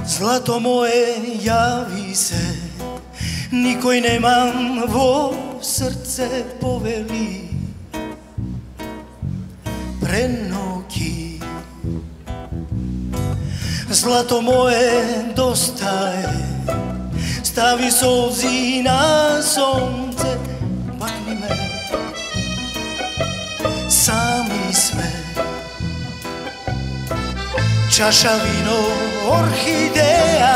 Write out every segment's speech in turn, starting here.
Злато мое, јави се, никој немам во срце, повели преноки. Злато мое, доста е, стави солзи на сонце, пакни ме, сами сме. Чаша вино, орхидеја.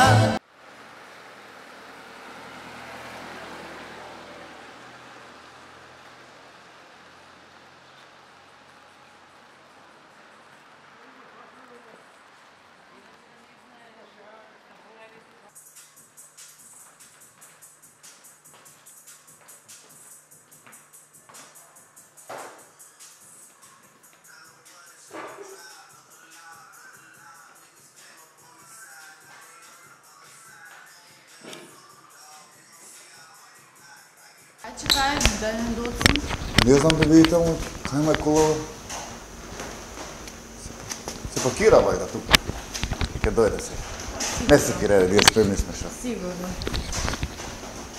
Чекај, да не доцим. Не знам да видите, ама нема колова. Се пакира бајда тука. Ке дојде се. Не се кире, вие спремни сме шо. Сигурно.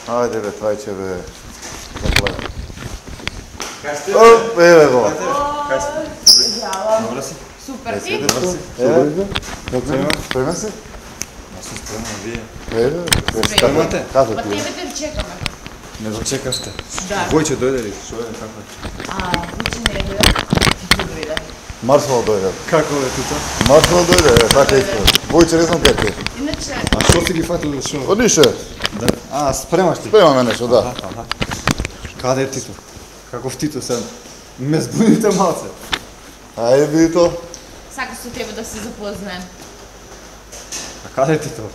Ајде бе, трајче бе. Загледам. Кај сте? Оп, еве го. Кај сте? Здраво. Добро си? Супер, ти? Добро си? Еве, спремен си? Аз сум спремен, вие? Еве, Спремате? Како Па ти? тебе те чекаме. Не го чекавте? Да. Војче дојде ли? Шо е, како е? Вуче не дојде, ти дојде. Маршал дојде. Како е тука? Маршал дојде, така исто. Војче не знам кај ти. Иначе, А шо си ги фатил, шо? Одише. Да. А, спремаш ти? Спрема ме нешто, да. Аха. Каде е Тито? Каков Тито сега? Ме збуните малце. Ајде биди то. сака со тебе да се запознаем. А каде е Тито?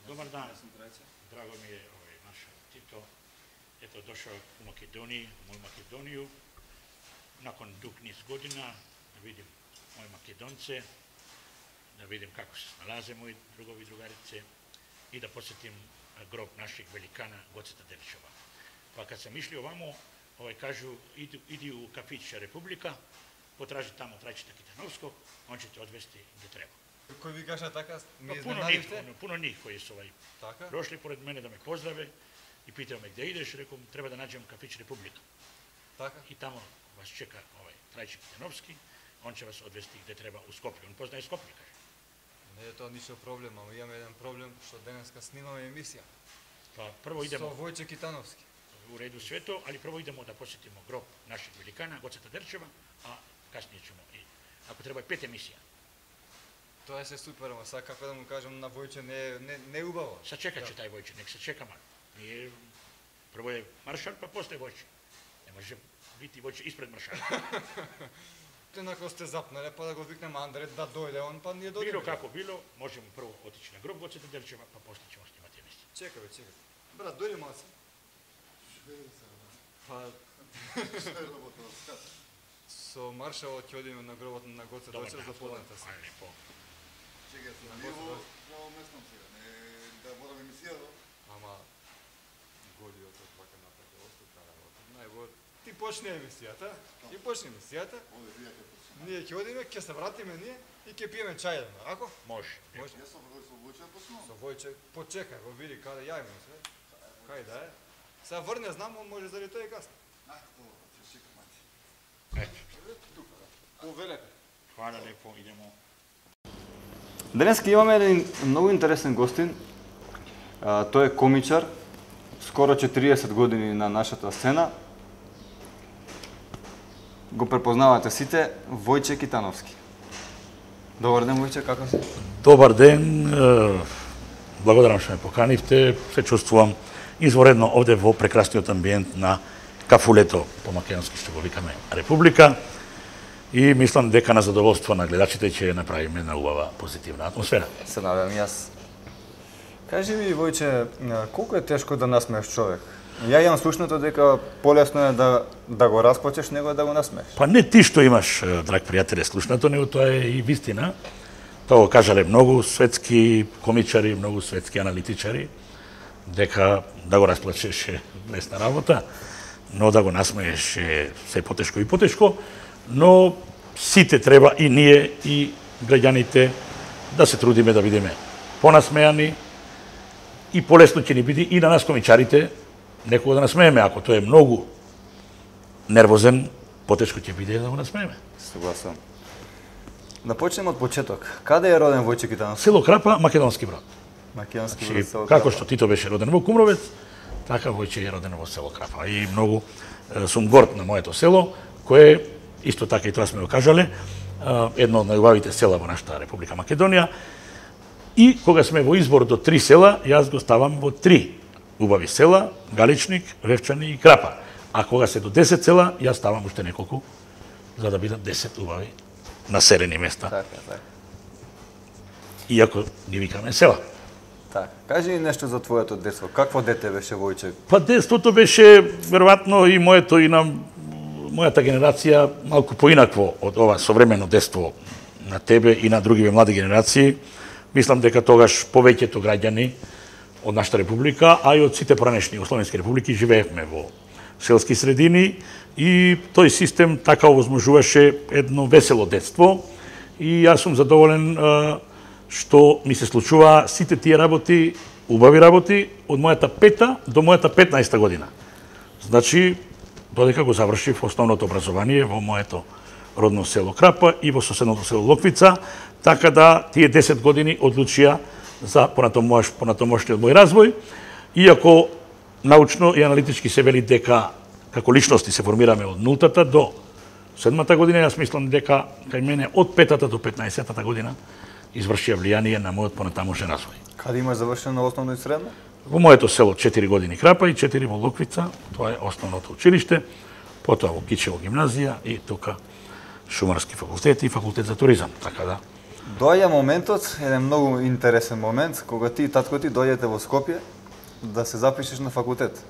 Добар дан. Драго ми е наш Тито. Ето дошao u Makedoniji, u moju Makedoniju. Nakon dug niz godina da vidim moje Makedonce, da vidim kako se snalaze moji drugovi i drugarice i da posjetim grob našeg velikana Goceta Delčeva. Pa kad sam išli ovamo, kažu idi u kafić Republika, potraži tamo Trajčeta Kitanovskog, on će te odvesti gdje treba. Кој ви кажа така, ми Pa puno njih koji su Така? prošli pored mene da me pozdrave i pitaju me gdje ideš, rekao treba da nađem kafić Republika. Така? I tamo vas čeka Trajček Kitanovski, on će vas odvesti gdje treba u Skoplje. On poznaje Skoplje, kaže. Не е тоа ништо проблем, ама имаме еден проблем што денеска снимаме емисија. Pa prvo idemo Со Војче Китановски. u redu sve to, ali prvo idemo da posjetimo grob našeg velikana Goceta Delčeva, a kasnije ćemo i, ako treba, 5 emisija. Тоа е се супер, ама сега како да му кажам на Војче не е убаво. Sačekat će taj Vojče, nek se čeka malo. Nije, prvo je maršal, pa poslije Vojče. Ne može biti Vojče ispred maršala. Ако сте запнале, па да го викнеме Андре да дојде он, па ние дојдеме. Bilo kako bilo, možemo prvo otići na grob Goceta Delčeva, pa poslije ćemo snimati emisiju. Чекај, чекај. Брат, дојди малце. Па со маршалот ќе одиме на гробот на Гоце Dobar Делчев dan, за поданата се. hvala lijepo. Чекај, во местном сега, не да морам емисија. Ама годиот вака напред остата работа. Најбо ти почне емисијата, и почне емисијата. Оде вие ќе почнеме. Ние ќе одиме, ќе се вратиме ние и ќе пиеме чај, ако? Može. Може. Јас сум со Војче почнувам. Со Војче, почекај, го види каде јајме се. Кај да е? Сега врне, знам, он може заради тоа и касно. Ќе чекам мати. Eto, Тука, да. Повелете. hvala lijepo, idemo. Денеска имаме еден многу интересен гостин. Тој е комичар, скоро 40 години на нашата сцена. Го препознавате сите, Војче Китановски. Добар ден, Војче, како си? Dobar den, благодарам што ме поканивте, се чувствувам изворедно овде во прекрасниот амбиент на кафулето, по македонски што го викаме Република, и мислам дека на задоволство на гледачите ќе направиме една убава позитивна атмосфера. Се надевам јас. Кажи ми, Војче, колку е тешко да насмееш човек? Ја имам слушнато дека полесно е да го распочеш него да го насмееш. Па не ти што имаш, драг пријателе, слушнато, него тоа е и вистина. Тоа го кажале многу светски комичари, многу светски аналитичари, дека да го расплачеш е лесна работа. но да го насмееш е се потешко и потешко, но сите треба и ние и граѓаните да се трудиме да бидеме понасмеани и полесно ќе ни биде и на нас комичарите некога да насмееме. Ако тој е многу нервозен, потешко ќе биде да го насмееме. Согласен. Да почнеме од почеток. Каде е роден Војче Китанов? Село Крапа, Македонски Брод. Македонски Значи, Брод, село како Крапа. што Тито беше роден во Кумровец, така Војче е роден во село Крапа. И многу сум горд на моето село, кое исто така и тоа сме го кажале, едно од најубавите села во нашата Република Македонија. И кога сме во избор до 3 села, јас го ставам во 3 убави села: Галичник, Ревчани и Крапа. А кога се до 10 села, јас ставам уште неколку, за да бидат 10 убави населени места. Така. Иако ги викаме села. Така. Кажи ни нешто за твоето детство. Какво дете беше Војче? Па детството беше веројатно и моето и на мојата генерација малку поинакво од ова современо детство на тебе и на другиве млади генерации. Мислам дека тогаш повеќето граѓани од нашата република, а и од сите поранешни југословенски републики живеевме во селски средини и тој систем така овозможуваше едно весело детство и јас сум задоволен што ми се случува сите тие работи, убави работи, од мојата 5-та до мојата 15-та година. Значи, додека го завршив основното образование во моето родно село Крапа и во соседното село Локвица, така да тие 10 години одлучија за понатомошниот мој развој, иако научно и аналитички се вели дека како личности се формираме од 0-та до 7-та година, јас мислам дека кај мене од 5-та до 15-та година извршија влијание на мојот понатамошен развој. Каде имаш завршено основно и средно? Во моето село 4 години Крапа и 4 во Локвица, тоа е основното училиште, потоа во Кичево гимназија и тука Шумарски факултет и факултет за туризам, така да. Доаѓа моментот, еден многу интересен момент, кога ти и татко ти дојдете во Скопје да се запишеш на факултет.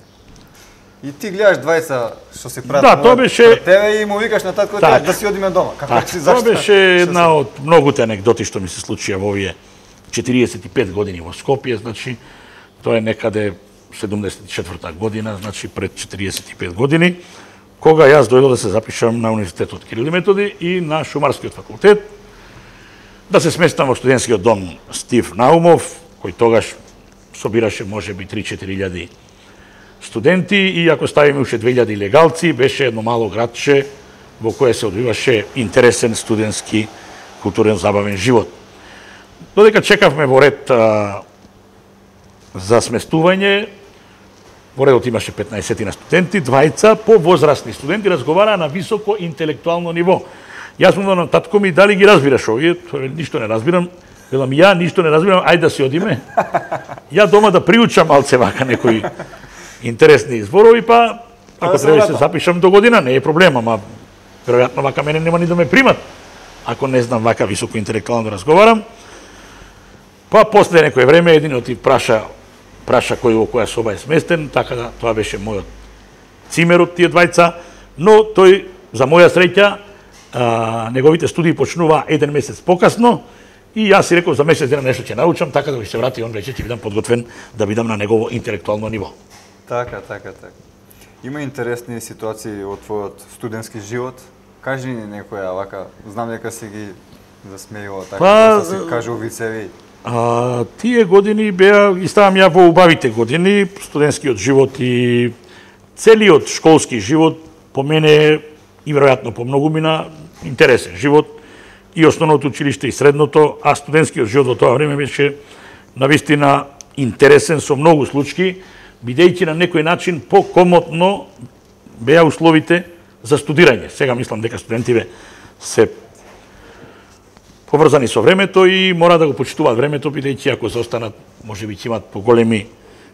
И ти гледаш двајца што се прават. Да, тоа беше тебе и му викаш на татко така, да си одиме дома. Како така, си тоа беше една од многуте анегдоти што ми се случија во овие 45 години во Скопје, значи тоа е некаде 74-та година, значи пред 45 години, кога јас дојдов да се запишам на Универзитетот Кирил и Методи и на Шумарскиот факултет, да се сместам во студентскиот дом Стив Наумов, кој тогаш собираше можеби 3-4 студенти и ако ставиме уште 2000 легалци, беше едно мало градче во кое се одвиваше интересен студентски културен забавен живот. Додека чекавме во ред за сместување, во редот имаше 15 на студенти, двајца повозрастни студенти разговараа на високо интелектуално ниво. Јас му на татко ми, дали ги разбираш овие? Ништо не разбирам. Велам, ја ништо не разбирам, ајде да си одиме. Ја дома да приучам малце вака некои интересни зборови, па ако треба да се запишам до година, не е проблем, ама веројатно вака мене нема ни да ме примат, ако не знам вака високо интелектуално да разговарам. Па после некој време единот ти праша кој во која соба е сместен, така да тоа беше мојот цимер од тие двајца, но тој, за моја среќа, неговите студии почнува 1 месец покасно и јас си реков за месец дена нешто ќе научам, така да ќе се врати он веќе ќе бидам подготвен да бидам на негово интелектуално ниво. Така. Има интересни ситуации од твојот студентски живот. Кажи ни некоја вака, знам дека си ги засмејува така, да си кажу вицеви. Тие години беа, ги ставам ја во убавите години, студентскиот живот и целиот школски живот по мене и веројатно по многу мина интересен живот и основното училиште и средното, а студентскиот живот во тоа време беше навистина интересен со многу случаи, бидејќи на некој начин покомотно беа условите за студирање. Сега мислам дека студентиве се поврзани со времето и мора да го почитуваат времето, бидејќи ако заостанат, можеби ќе имат поголеми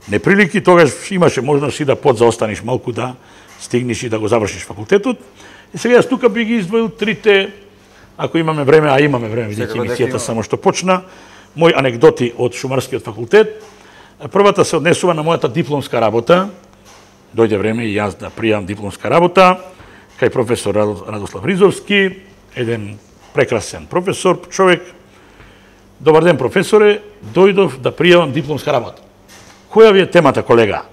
неприлики, тогаш имаше можност и да подзаостаниш малку да стигнеш и да го завршиш факултетот. И сега јас тука би ги издвоил трите, ако имаме време, а имаме време, бидејќи емисијата само што почна, мои анегдоти од Шумарскиот факултет. Првата се однесува на мојата дипломска работа. Дојде време и јас да пријавам дипломска работа кај професор Радослав Ризовски, еден прекрасен професор, човек. Добар ден, професоре, дојдов да пријавам дипломска работа. Која ви е темата, колега?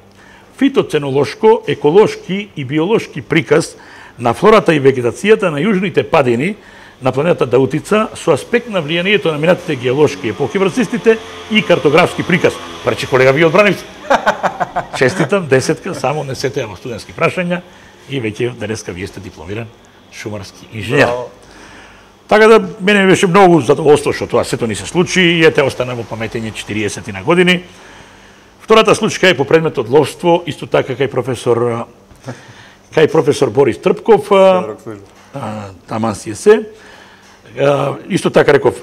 фитоценолошко, еколошки и биолошки приказ на флората и вегетацијата на јужните падини на планетата Даутица со аспект на влијанието на минатите геолошки епохи врз истите и картографски приказ. Парче колега ви одбранивте. Честитам, 10-ка, само не сете во студентски прашања и веќе денеска вие сте дипломиран шумарски инженер. Така да мене ми беше многу задоволство што тоа сето ни се случи и ете остана во паметење 40 на години. Втората случка е по предметот ловство, исто така кај професор Борис Трпков, таман си е се. Исто така реков,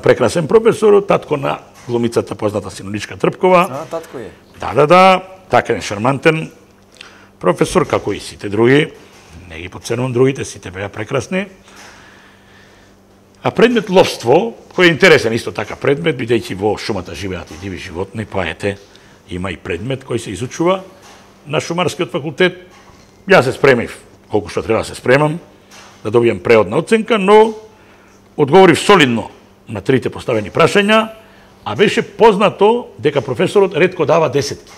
прекрасен професор, татко на глумицата позната Синоничка Трпкова. Татко е. Да, така е шармантен професор, како и сите други. Не ги подценувам другите, сите беа прекрасни. А предмет ловство, кој е интересен исто така предмет, бидејќи во шумата живеат и диви животни, па ете, има и предмет кој се изучува на Шумарскиот факултет. Јас се спремив колку што треба да се спремам, да добијам преодна оценка, но одговорив солидно на трите поставени прашања, а беше познато дека професорот ретко дава десетки.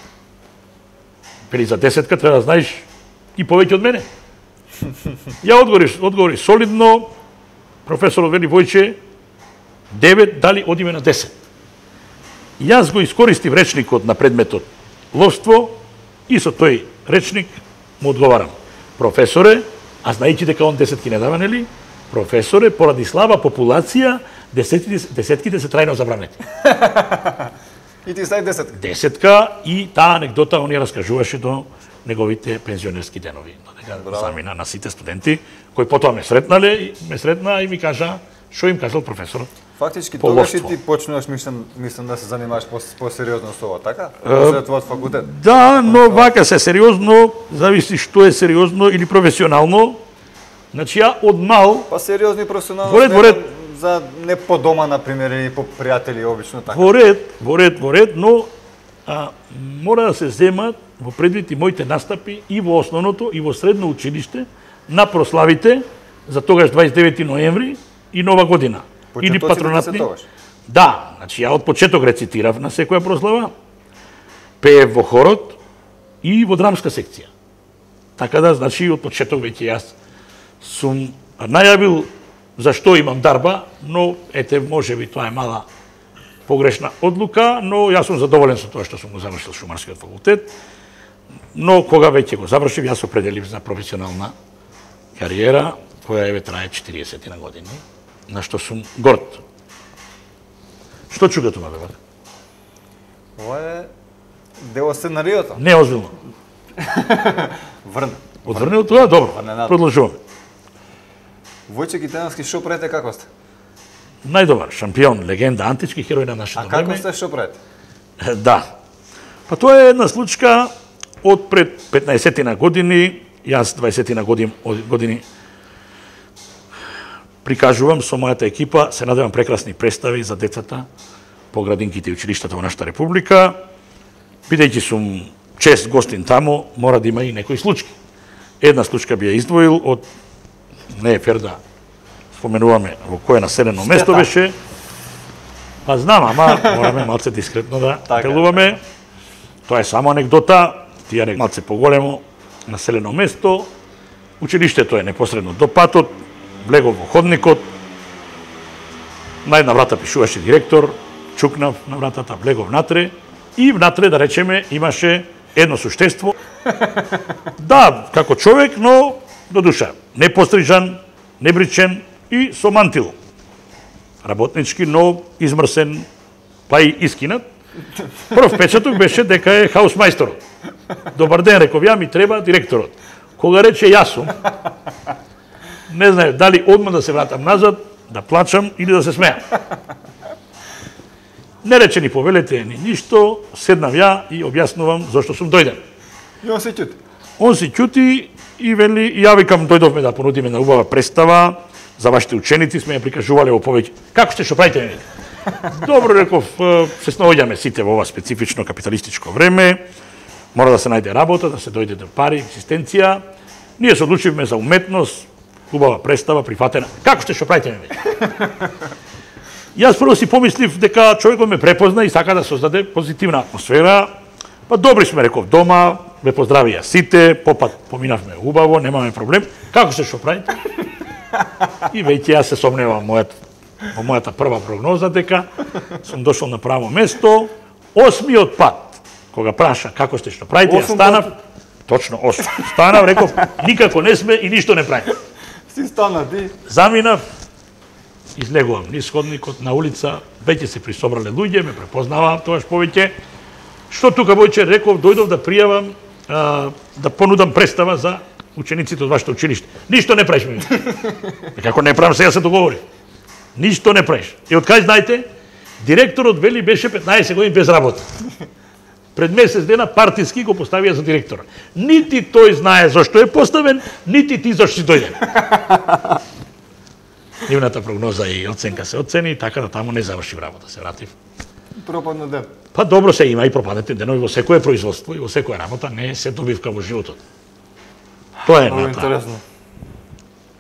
Вели за десетка треба да знаеш и повеќе од мене. Ја одговорив солидно, професорот вели Војче 9, дали одиме на 10. Јас го искористив речникот на предметот ловство и со тој речник му одговарам. Професоре, а знаејќи дека он десетки не дава, нели? Професоре, поради слаба популација, десетките се трајно забранети. И ти стај десетка. Десетка и таа анекдота он ја раскажуваше до неговите пензионерски денови. Додека замина на сите студенти, кои потоа ме сретна и ми кажа што им кажал професорот. Фактички тогаш и ти почнуваш, мислам да се занимаваш посериозно со ова, така? След твојот факултет. Да, но вака се сериозно, зависи што е сериозно или професионално. Значи ја од мал... Па сериозно и професионално за не по дома, например, или по пријатели, обично така. Во ред, но мора да се земат во предвид и моите настапи и во основното и во средно училиште на прославите за тогаш 29 ноември и Нова година. Или патронатни. Да, значи ја од почеток рецитирав на секоја прослава, пеев во хорот и во драмска секција. Така да, значи, од почеток веќе јас сум најавил зашто имам дарба, но ете, може би тоа е мала погрешна одлука, но јас сум задоволен со тоа што сум го завршил Шумарскиот факултет. Но кога веќе го завршив, јас определив за професионална кариера, која еве трае 40 на години, на што сум горд. Што чуга тоа, бе? Ова е дел од сценариото. Не озбилно. Врн. Одврнил тоа? Добро. Продолжуваме. Војче Китановски, што правите, како сте? Најдобар, шампион, легенда, антички херој на нашето време. А како сте, што правите? Да. Па тоа е една случка од пред 15 на години, јас 20 на години прикажувам со мојата екипа, се надевам прекрасни представи за децата по градинките и училиштата во нашата република. Бидејќи сум чест гостин таму, мора да има и некои случки. Една случка би ја издвоил од, не е фер да споменуваме во кое населено место беше. Па знам, ама мораме малце дискретно да делуваме. Тоа е само анекдота, тие малце поголемо населено место. Училиштето е непосредно до патот, влегов во ходникот. На една врата пишуваше директор, чукнав на вратата, влегов внатре и внатре, да речеме, имаше едно суштество. Да, како човек, но до душа. Непострижан, небричен и со мантил. Работнички, но измрсен, па и искинат. Прв печаток беше дека е хаусмајсторот. Добар ден, реков ја, ми треба директорот. Кога рече јас сум, не знае дали одма да се вратам назад, да плачам или да се смеам. Не рече ни повелете ни ништо, седнав ја и објаснувам зошто сум дојден. И он се ќути. Он се ќути и вели, ја викам, дојдовме да понудиме на убава представа, за вашите ученици сме ја прикажувале во повеќе. Како сте, што правите? Добро, реков, се снаоѓаме сите во ова специфично капиталистичко време, мора да се најде работа, да се дојде до пари, екзистенција. Ние се одлучивме за уметност, убава представа, прифатена. Како сте, што правите? Јас прво си помислив дека човекот ме препозна и сака да создаде позитивна атмосфера. Па добри сме, реков, дома, ме поздравија сите, попат поминавме убаво, немаме проблем. Како се што правите? И веќе јас се сомневам во мојата прва прогноза дека сум дошол на право место. 8-миот пат, кога праша како сте што правите, јас станав, точно 8. Станав, реков, никако не сме и ништо не правиме. Си стана ти. Заминав, излегувам низ ходникот на улица, веќе се присобрале луѓе, ме препознаваат тогаш повеќе. Што тука Војче реков, дојдов да пријавам, да понудам представа за учениците од вашето училиште. Ништо не правиш, ме. Како не правам, сега се договори. Ништо не правиш. И од кај знаете, директорот вели беше 15 години без работа. Пред месец дена партиски го поставија за директор. Нити тој знае зашто е поставен, нити ти зашто си дојде. Нивната прогноза и оценка се оцени, така да таму не завршив работа, се вратив. Пропадна ден. Па добро се има и пропаднете денови во секое производство и во секоја работа, не се добивка во животот. Тоа е Много ната. интересно.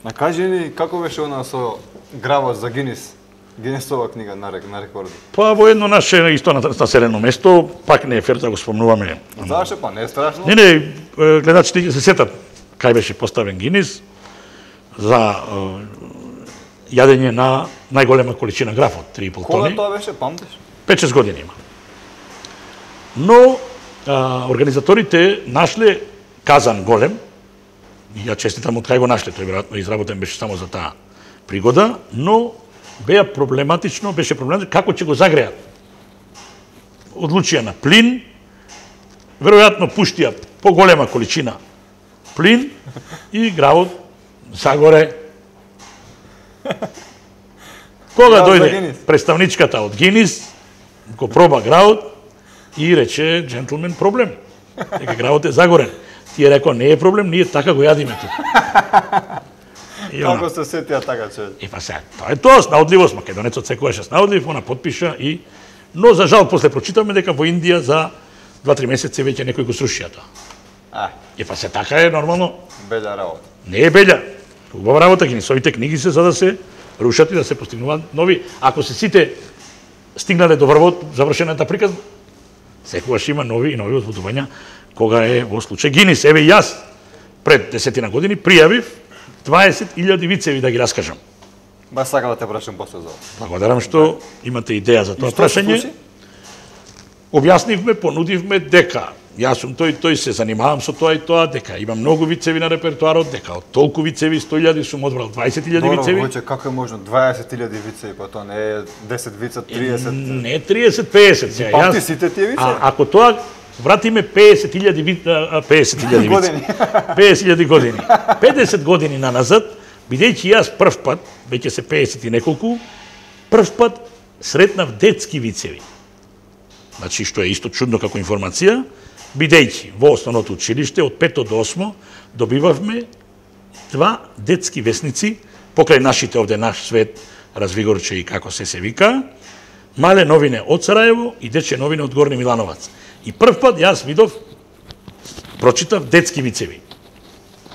На кажи ни како беше она со гравот за Гинис? Гинисова книга на рекорди. Па во едно наше исто населено место, пак не е фер да го спомнуваме. Зашто па не е страшно? Не, гледачите ќе се сетат кај беше поставен Гинис за јадење на најголема количина графот, 3,5 Кога тони. тоа беше, памтиш? 5-6 години има. Но организаторите нашле казан голем, и ја честитам од кај го нашле, тој веројатно изработен беше само за таа пригода, но беше проблематично како ќе го загреат. Одлучија на плин, веројатно пуштија поголема количина плин и гравот загоре. Кога дојде представничката од Гинис, го проба гравот и рече, джентлмен, проблем. Дека гравот е загорен. Тие рекоа, не е проблем, ние така го јадиме тука. Како се сетија така, че? И па сега, тоа е тоа, снаудливост, македонецот секојаш е снаудлив, она потпиша и... Но, за жал, после прочитаме дека во Индија за 2-3 месеци веќе некој го срушија тоа. И па се така е нормално. Белја работа. Не е белја. Убава работа, Гинисовите книги се за да се рушат и да се постигнуваат нови. Ако се сите стигнале до врвот, завршената приказна, секогаш има нови и нови возбудувања кога е во случај Гинис. Еве јас пред 10 години пријавив 20.000 вицеви да ги раскажам. Баш сака да те прашам после за ова. Благодарам што имате идеја за тоа И што се прашање. случи? Објаснивме, понудивме дека јас сум тој се занимавам со тоа и тоа, дека имам многу вицеви на репертоарот, дека од толку вицеви 100.000 сум одбрал 20.000 вицеви. Добро, како е можно 20.000 вицеви, па тоа не е 10 вица, 30. Не 30-50 сега. Памти сите тие вицеви? Ако тоа вратиме 50.000 Години. 50.000 години. 50 години наназад, бидејќи јас прв пат, веќе се 50 и неколку, прв пат сретнав детски вицеви. Значи, што е исто чудно како информација, бидејќи во основното училиште од 5 до 8 добивавме 2 детски весници, покрај нашите овде Наш свет, Развигорче и како се вика, Мале новине од Сараево и Дече новине од Горни Милановац. И прв пат јас видов, прочитав детски вицеви.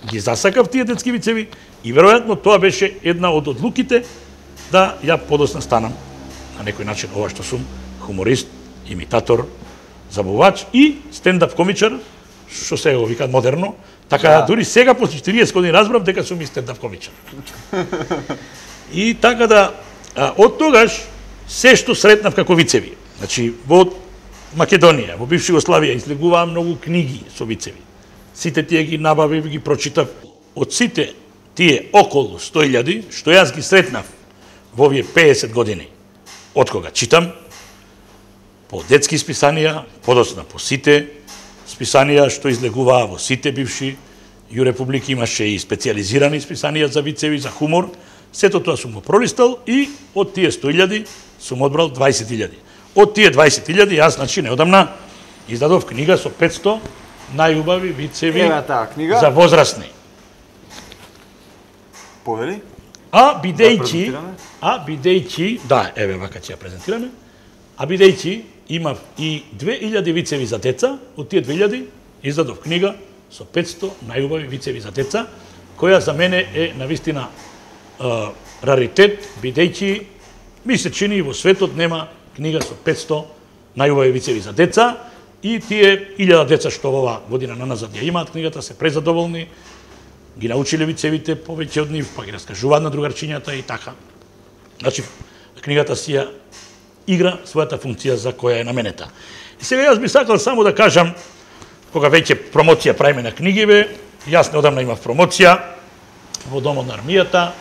Ги засакав тие детски вицеви и веројатно тоа беше една од одлуките да ја подосна станам на некој начин ова што сум хуморист, имитатор, забавач и стендап комичар, што се го викаат модерно, така дури сега после 40 години разбрав дека сум и стендап комичар. И така да од тогаш се што сретнав како вицеви. Значи во Македонија, во бивша Југославија излегуваа многу книги со вицеви. Сите тие ги набавив, ги прочитав. Од сите тие околу 100.000 што јас ги сретнав во овие 50 години, од кога читам, по детски списанија, подоцна по сите списанија што излегуваа во сите бивши јурепублики, имаше и специјализирани списанија за вицеви, за хумор. Сето тоа сум го пролистал и од тие 100.000 сум одбрал 20.000. Од тие 20.000 јас, значи, неодамна издадов книга со 500 најубави вицеви за возрастни. Повели? Бидејќи, да, еве вака ќе ја презентираме, бидејќи имав и 2000 вицеви за деца, од тие 2000 издадов книга со 500 најубави вицеви за деца, која за мене е навистина раритет, бидејќи ми се чини во светот нема книга со 500 најубави вицеви за деца И тие 1000 деца што ова година наназад ја имаат книгата се презадоволни, ги научиле вицевите повеќе од нив, па ги раскажуваат на другарчињата и така. Значи, книгата си ја игра својата функција за која е наменета. И сега јас би сакал само да кажам, кога веќе промоција правиме на книгиве, јас неодамна имав промоција во Домот на армијата,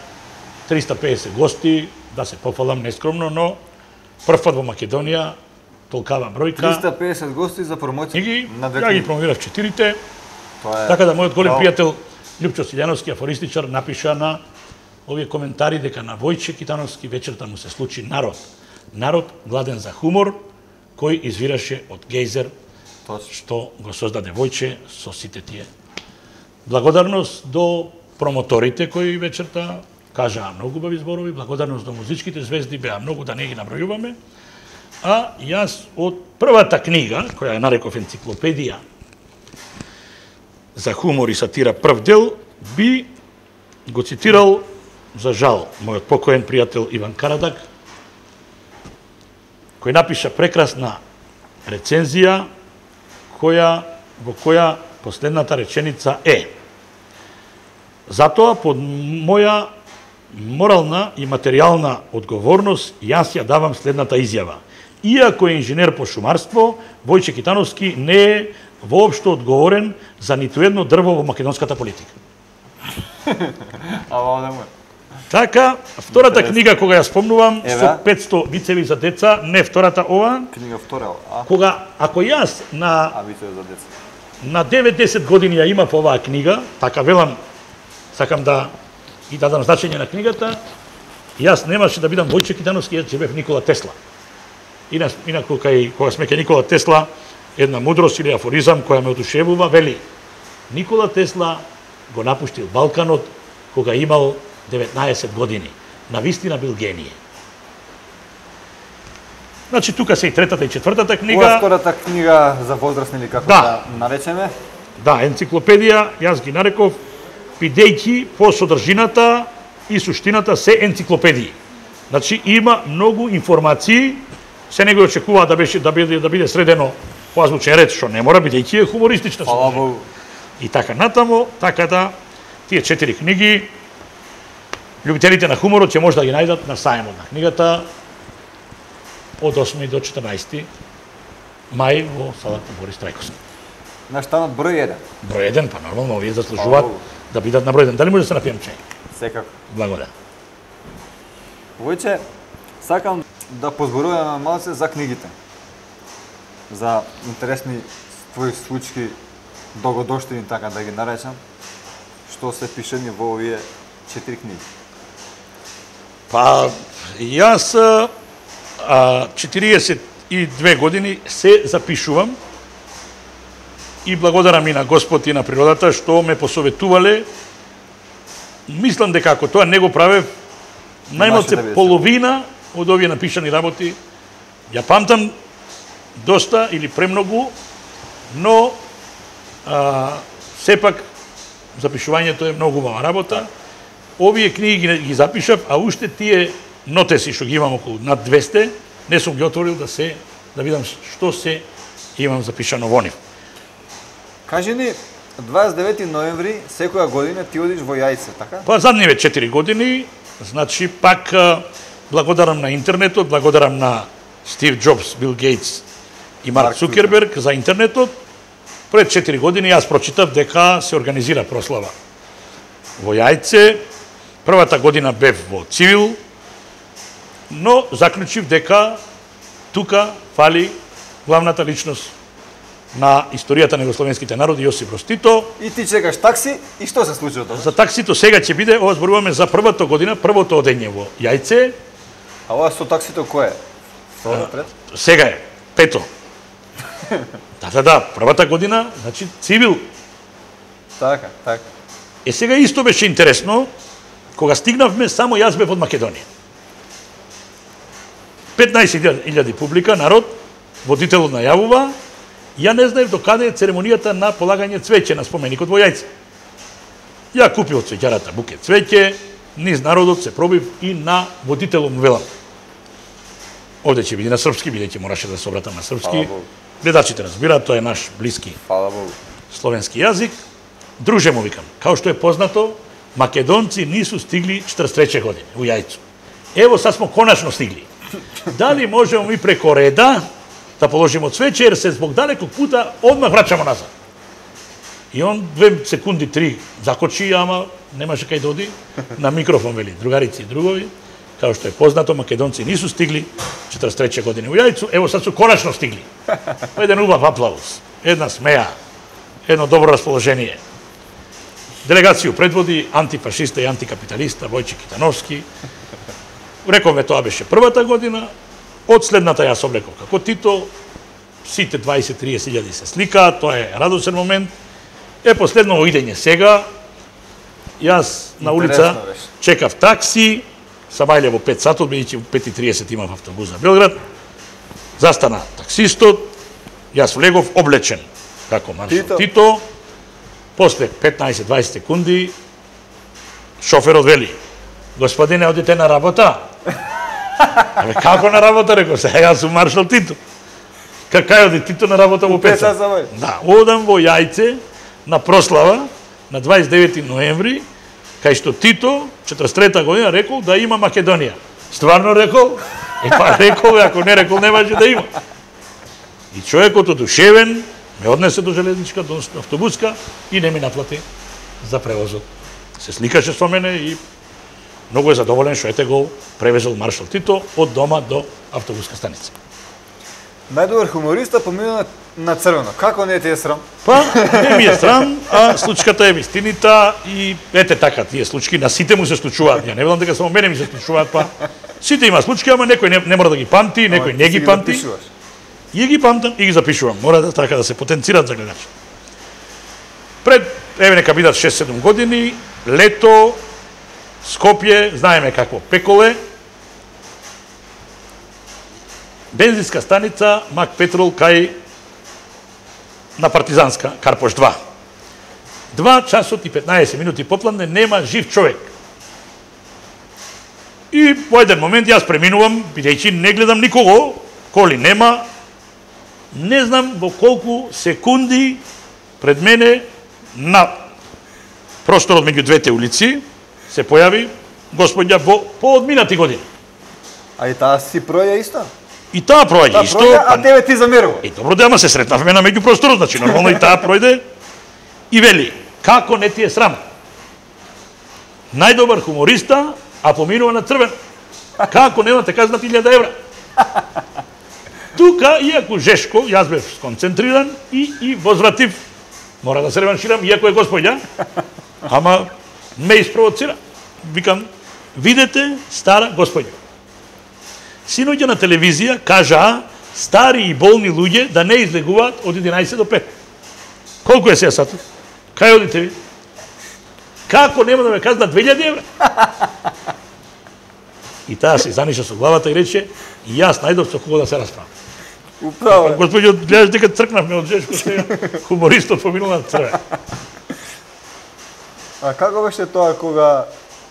350 гости, да се пофалам нескромно, но прв пат во Македонија, толкава бројка. 350 гости за промоција Книги, на две ја ги книги. промовирав 4-те, Тоа е така да мојот голем браво. пријател Лјупчо Силјановски, афористичар, напиша на овие коментари дека на Војче Китановски вечерта му се случи народ. Народ гладен за хумор, кој извираше од гейзер, Точно. што го создаде Војче со сите тие. Благодарност до промоторите кои вечерта кажаа многу убави зборови, благодарност до музичките звезди, беа многу да не ги набројуваме. А јас од првата книга, која ја нареков енциклопедија за хумор и сатира прв дел, би го цитирал, за жал, мојот покоен пријател Иван Карадаг, кој напиша прекрасна рецензија, во која последната реченица е: затоа под моја морална и материјална одговорност јас ја давам следната изјава. Иако е инженер по шумарство, Војче Китановски не е воопшто одговорен за ниту едно дрво во македонската политика. Ама да му. Така, втората книга кога ја спомнувам Еве. со 500 вицеви за деца, не втората ова, Книга втора, кога ако јас а вицеви за деца. на 9-10 години ја имав оваа книга, така велам, сакам да и дадам значење на книгата, јас немаше да бидам Војче Китановски, јас ќе бев Никола Тесла. Инаку кога сме ке Никола Тесла, една мудрост или афоризам која ме одушевува, вели: Никола Тесла го напуштил Балканот кога имал 19 години. Навистина бил генije. Значи, тука се и третата и четвртата Ова книга. втората книга за возрастни или како Да. да наречеме? Да, енциклопедија, јас ги нареков, бидејќи по содржината и суштината се енциклопедии. Значи, има многу информации, се него очекува да биде средено по азбучен ред, што не мора, бидејќи е хумористична. Фала Богу. И така натаму, така да тие 4 книги, љубителите на хуморот ќе може да ги најдат на сајмот на книгата од 8 до 14 мај во салата Борис Трајковски. На штанот број 1. Број 1, па нормално, овие заслужуваат Фала Богу. да бидат на број 1. Дали може да се напијам чај? Секако. Благодарам. Војче, сакам да позборуваме малце за книгите. За интересни твои случаи, догодоштини, така да ги наречам, што се пишени во овие 4 книги. Па, јас 42 години се запишувам и благодарам и на Господ и на природата што ме посоветувале. Мислам дека ако тоа не го правев, да најмалце биде половина од овие напишани работи ја памтам доста или премногу, но сепак запишувањето е многу убава работа. Овие книги ги запишав, а уште тие нотеси што ги имам околу над 200, не сум ги отворил да видам што се имам запишано во нив. Кажи ни, 29 ноември секоја година ти одиш во Јајце, така? Па задниве 4 години, значи пак благодарам на интернетот, благодарам на Стив Џобс, Бил Гейтс и Марк Цукерберг за интернетот. Пред 4 години јас прочитав дека се организира прослава во Јајце. Првата година бев во цивил, но заклучив дека тука фали главната личност на историјата на југословенските народи Јосип Брз Тито. И ти чекаш такси и што се случи од тоа? За таксито сега ќе биде, ова зборуваме за првата година, првото одење во Јајце. А ова со таксито кој е? Второ напред? Сега е, пето. Да, првата година, значи цивил. Така, така. Сега исто беше интересно, кога стигнавме, само јас бев од Македонија. 15.000 публика, народ, водителот најавува, ја не знаев до каде е церемонијата на полагање цвеќе на споменикот во Јајце. Ја купив од цвеќарата букет цвеќе, низ народот се пробив и на водителот му велам. Овде ќе биде на српски, бидејќи мораше да се обратам на српски. гледачите разбираат, тоа е наш блиски Фала Богу. словенски јазик. Друже му викам, као што е познато, македонци нису стигли 43 години у јајцу. Ево сад смо конечно стигли. Дали можеме ми преко реда да положимо цвеќе, jer се због далеког пута одмах враќамо назад. И он 2 секунди, 3 закочи, ама немаше кај да оди, на микрофон вели, другарици и другови, као што е познато, македонци нису стигли 43 години у јајцу, ево сад су конечно стигли. Еден убав аплауз, една смеја, едно добро расположение. Делегацију предводи антифашиста и антикапиталиста Војче Китановски. Рековме тоа беше првата година, од следната јас облеков како Тито, сите 20-30 илјади се сликаат, тоа е радосен момент. Последно идење сега, јас на улица чекав такси, сам ајле во 5 сатот, бидејќи во 5:30 имав автобус за Белград. Застана таксистот, јас влегов облечен како маршал Тито. После 15-20 секунди шоферот вели: "Господине, одите на работа?" Абе, како на работа, реков се, јас сум маршал Тито. Кај оди Тито на работа во 5 сат? Да, одам во Јајце на прослава на 29 ноември, кај што Тито, 43 година, рекол да има Македонија. Стварно рекол? Па рекол, ако не рекол, не може да има. И човекот одушевен ме однесе до железничка, до автобуска и не ми наплати за превозот. Се сликаше со мене и многу е задоволен што ете го превезол маршал Тито од дома до автобуска станица. Најдобар хумориста помина на црвено. Како не ти е срам? Па, не ми е срам, а случката е вистинита и ете така, тие случки на сите му се случуваат. Ја не велам дека само мене ми се случуваат, па сите има случки, ама некој не мора да ги памти, некој не ги памти. И ги памтам и ги запишувам. Мора да така да се потенцираат за гледачи. Пред, еве нека бидат 6-7 години, лето, Скопје, знаеме какво пеколе, бензинска станица Мак Петрол кај на Партизанска, Карпош 2. 2 часот и 15 минути попладне нема жив човек. И во еден момент јас преминувам, бидејќи не гледам никого, коли нема, не знам во колку секунди пред мене на просторот меѓу двете улици се појави господја во поодминати години. А и таа си проја исто? И таа проаѓа исто. А тебе ти замерува? Добро да, ама се сретнавме на меѓу просторот, значи нормално и таа пројде и вели: "Како не ти е срам? Најдобар хумориста, а поминува на црвен. Како немате казна 1000 евра?" Тука, иако жешко, јас бев сконцентриран и возвратив. Мора да се реванширам, иако е господја, ама ме испровоцира. Викам: "Видете стара господја. Синоќа на телевизија кажаа стари и болни луѓе да не излегуваат од 11 до 5. Колку е сега сатот? Кај одите ви? Како нема да ме казна 2000 евра?" И таа се заниша со главата и рече: "И јас најдов со кого да се расправам." Управо. Господјо, гледаш дека цркнавме од жешко сега, хумористот поминал на црвен. А како беше тоа кога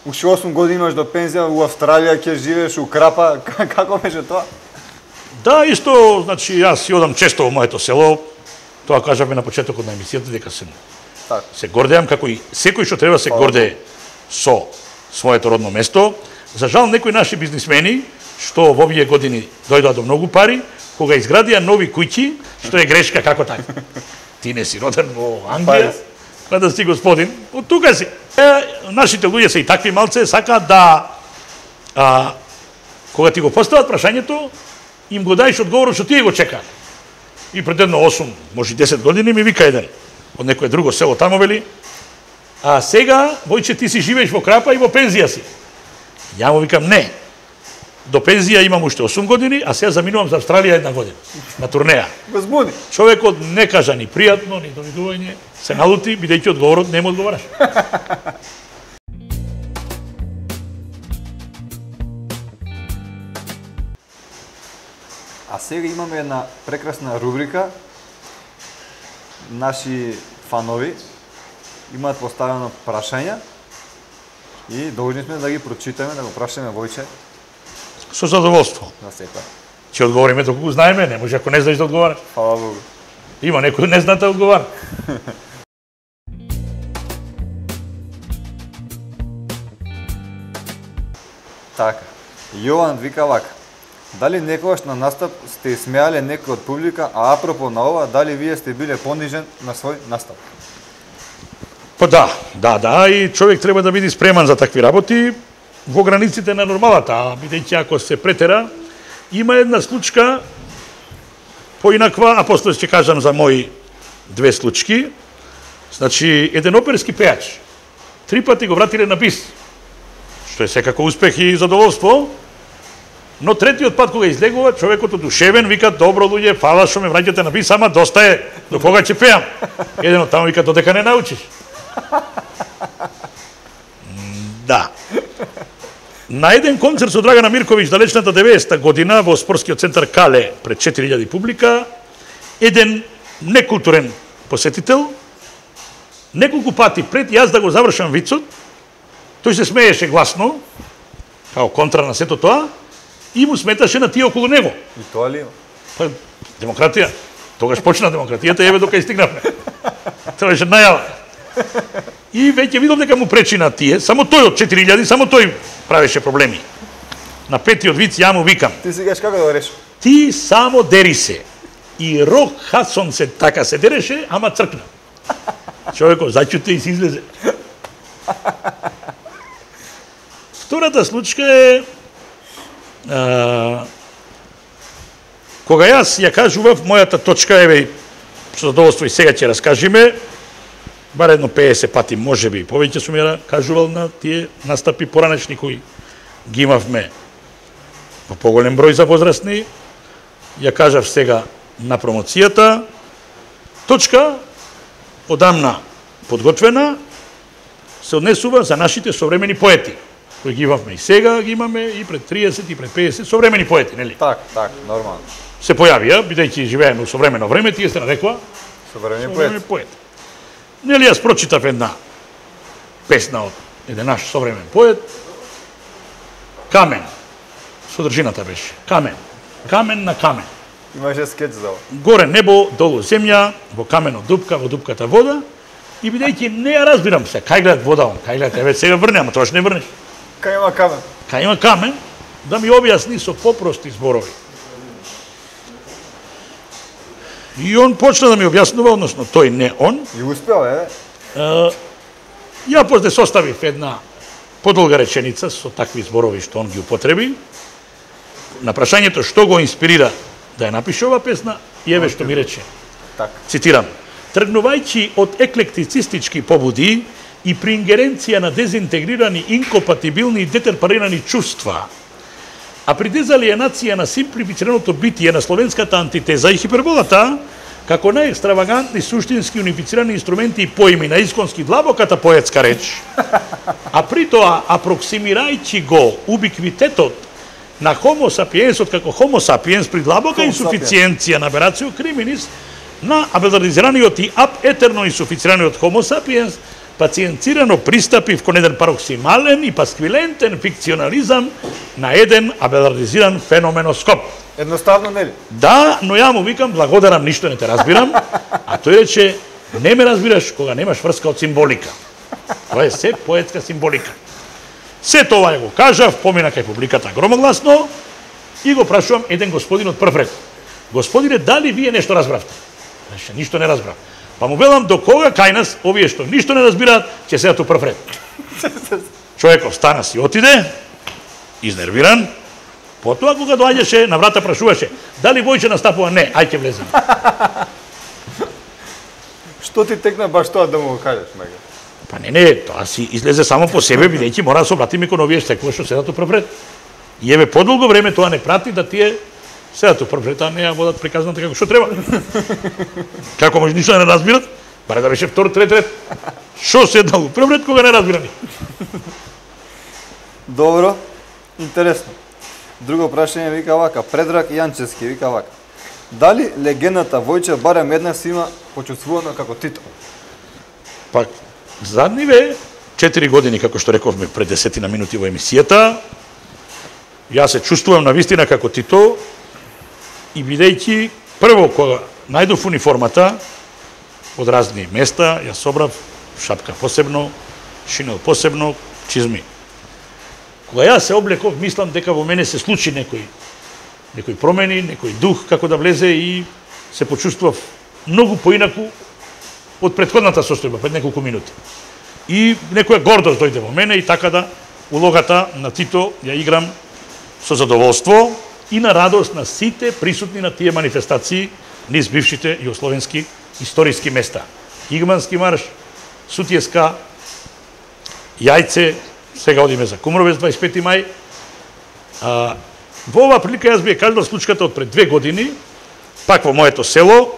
уште 8 години имаш до пензија, у Австралија ќе живееш, у Крапа, како беше тоа? Да, исто, значи јас си одам често во моето село. Тоа кажавме на почетокот на емисијата дека се гордеам, како и секој што треба се гордее со своето родно место. За жал, некои наши бизнисмени што во овие години дојдоа до многу пари, кога изградија нови куќи, што е грешка, како така. Ти не си роден во Англија, па да си господин, од тука си. Нашите луѓе се и такви малце, сакаат да, кога ти го постават прашањето, им го дајш одговорот што тие го чекаат. И пред едно 8, може 10 години ми вика еден од некое друго село тамо, вели: "А сега, Војче, ти си живееш во Крапа и во пензија си." Ја му викам: "Не. До пензија имам уште 8 години, а сега заминувам за Австралија 1 година на турнеја." Возбуди. Човекот не кажа ни пријатно, ни довидување, се налути, бидејќи одговорот не му одговараш. А сега имаме една прекрасна рубрика. Наши фанови имаат поставено прашања и должни сме да ги прочитаме, да го прашаме Војче. Со задоволство. На секој. Ќе одговориме доколку знаеме, не може ако не знаеш да одговараш. Фала Богу. Има некој не знае да одговара. Така. Јован вика вака. Дали некогаш на настап сте смеале некој од публика, а апропо на ова, дали вие сте биле понижен на свој настап? Па да, и човек треба да биде спреман за такви работи во границите на нормалата, а бидејќи ако се претера, има една случка поинаква, а после ќе кажам за мои две случки. Значи, еден оперски пејач, 3 пати го вратиле на бис, што е секако успех и задоволство, но третиот пат кога излегува, човекот одушевен вика: добро луѓе, фала што ме враќате на бис, ама доста е, до кога ќе пеам? Еден од таму вика: додека не научиш. Да. На еден концерт со Драгана Мирковиќ далечната 90-та година во спортскиот центар Кале пред 4000 публика, еден некултурен посетител неколку пати пред јас да го завршам вицот, тој се смееше гласно, као контра на сето тоа, и му сметаше на тие околу него. И тоа ли? Па, демократија. Тогаш почна демократијата, еве дока истигнавме. Тоа беше најава. И веќе видов дека му пречи на тие, само тој од 4000, само тој правеше проблеми. На петиот виц ја му викам: Ти си кажеш како да го решиш? ти само дери се. И Рок Хадсон се така се дереше, ама цркна. Човекот зачуте и се излезе. Втората случка е кога јас ја кажував мојата точка, еве, со задоволство и сега ќе раскажеме, бар едно 50 пати, може би, повеќе сум ја кажувал на тие настапи поранешни кои ги имавме во поголем број за возрастни. Ја кажав сега на промоцијата. Точка одамна подготвена се однесува за нашите современи поети, кои ги имавме и сега, ги имаме и пред 30 и пред 50 современи поети, нели? Так, нормално. Се појавија, бидејќи живееме во современо време, тие се нарекува Современи поет. Нели јас прочитав една песна од еден наш современ поет, Камен. Содржината беше Камен. Камен на камен. Имаше скеч за ова. Горе небо, долу земја, во камено дупка, во дупката вода. И бидејќи не ја разбирам се, кај гледат вода, кај гледат, еве сега врне, ама тоа што не врнеш. Кај има камен? Кај има камен, да ми објасни со попрости зборови. И он почна да ми објаснува, односно тој не он. И успеал, Ја после составив една подолга реченица со такви зборови што он ги употреби. На прашањето што го инспирира да ја напише ова песна, и еве што ми рече. Так. Цитирам: тргнувајќи од еклектицистички побуди и при ингеренција на дезинтегрирани, инкомпатибилни и детерпарирани чувства, а при дезалиенација на симплифицираното битие на словенската антитеза и хиперболата, како најекстравагантни суштински унифицирани инструменти и поими на исконски длабоката поетска реч, а при тоа апроксимирајќи го убиквитетот на Homo sapiensот како Homo sapiens при длабока инсуфициенција на аберацио криминис на абелардизираниот и ап етерно инсуфицираниот Homo sapiens, пациенцирано пристапив кон еден пароксимален и пасквилентен фикционализам на еден абелардизиран феноменоскоп. Едноставно, нели? Да, но ја му викам: благодарам, ништо не те разбирам. А тој рече: не ме разбираш кога немаш врска од символика. Тоа е се поетска символика. Се тоа го кажав, помина кај публиката громогласно и го прашувам еден господин од прв ред: господине, дали вие нешто разбравте? Рече: ништо не разбрав. Па му велам: до кога кај нас овие што ништо не разбираат ќе седат у прв ред? Човеков стана си отиде, изнервиран. Потоа кога доаѓаше на врата прашуваше: дали Војче настапува? Не, ај ќе влеземе. Што ти текна баш тоа да му го кажеш, мега? Па не, тоа си излезе само по себе, бидејќи мора да се обратиме кон овие штекови што седат у прв ред. И еве подолго време тоа не прати да тие седат у прв ред, а не ја водат приказната како што треба. Како може ништо да не разбират? Баре да беше втор, трет ред. Шо седнал у прв ред кога не разбирани? Добро, интересно. Друго прашање вика вака, Предраг Јанчевски вика вака: дали легендата Војче барем еднаш има почувствувано како Тито? Па, задниве 4 години, како што рековме пред 10 минути во емисијата, јас се чувствувам на вистина како Тито, и бидејќи прво кога најдов униформата од разни места, ја собрав шапка посебно, шинел посебно, чизми. Кога јас се облеков, мислам дека во мене се случи некои промени, некој дух како да влезе и се почувствував многу поинаку од претходната состојба пред неколку минути. И некоја гордост дојде во мене и така да улогата на Тито ја играм со задоволство и на радост на сите присутни на тие манифестации низ бившите југословенски историски места. Игмански марш, Сутјеска, Јајце, сега одиме за Кумровец 25 мај. Во оваа прилика јас би ја кажал случката од пред 2 години, пак во моето село.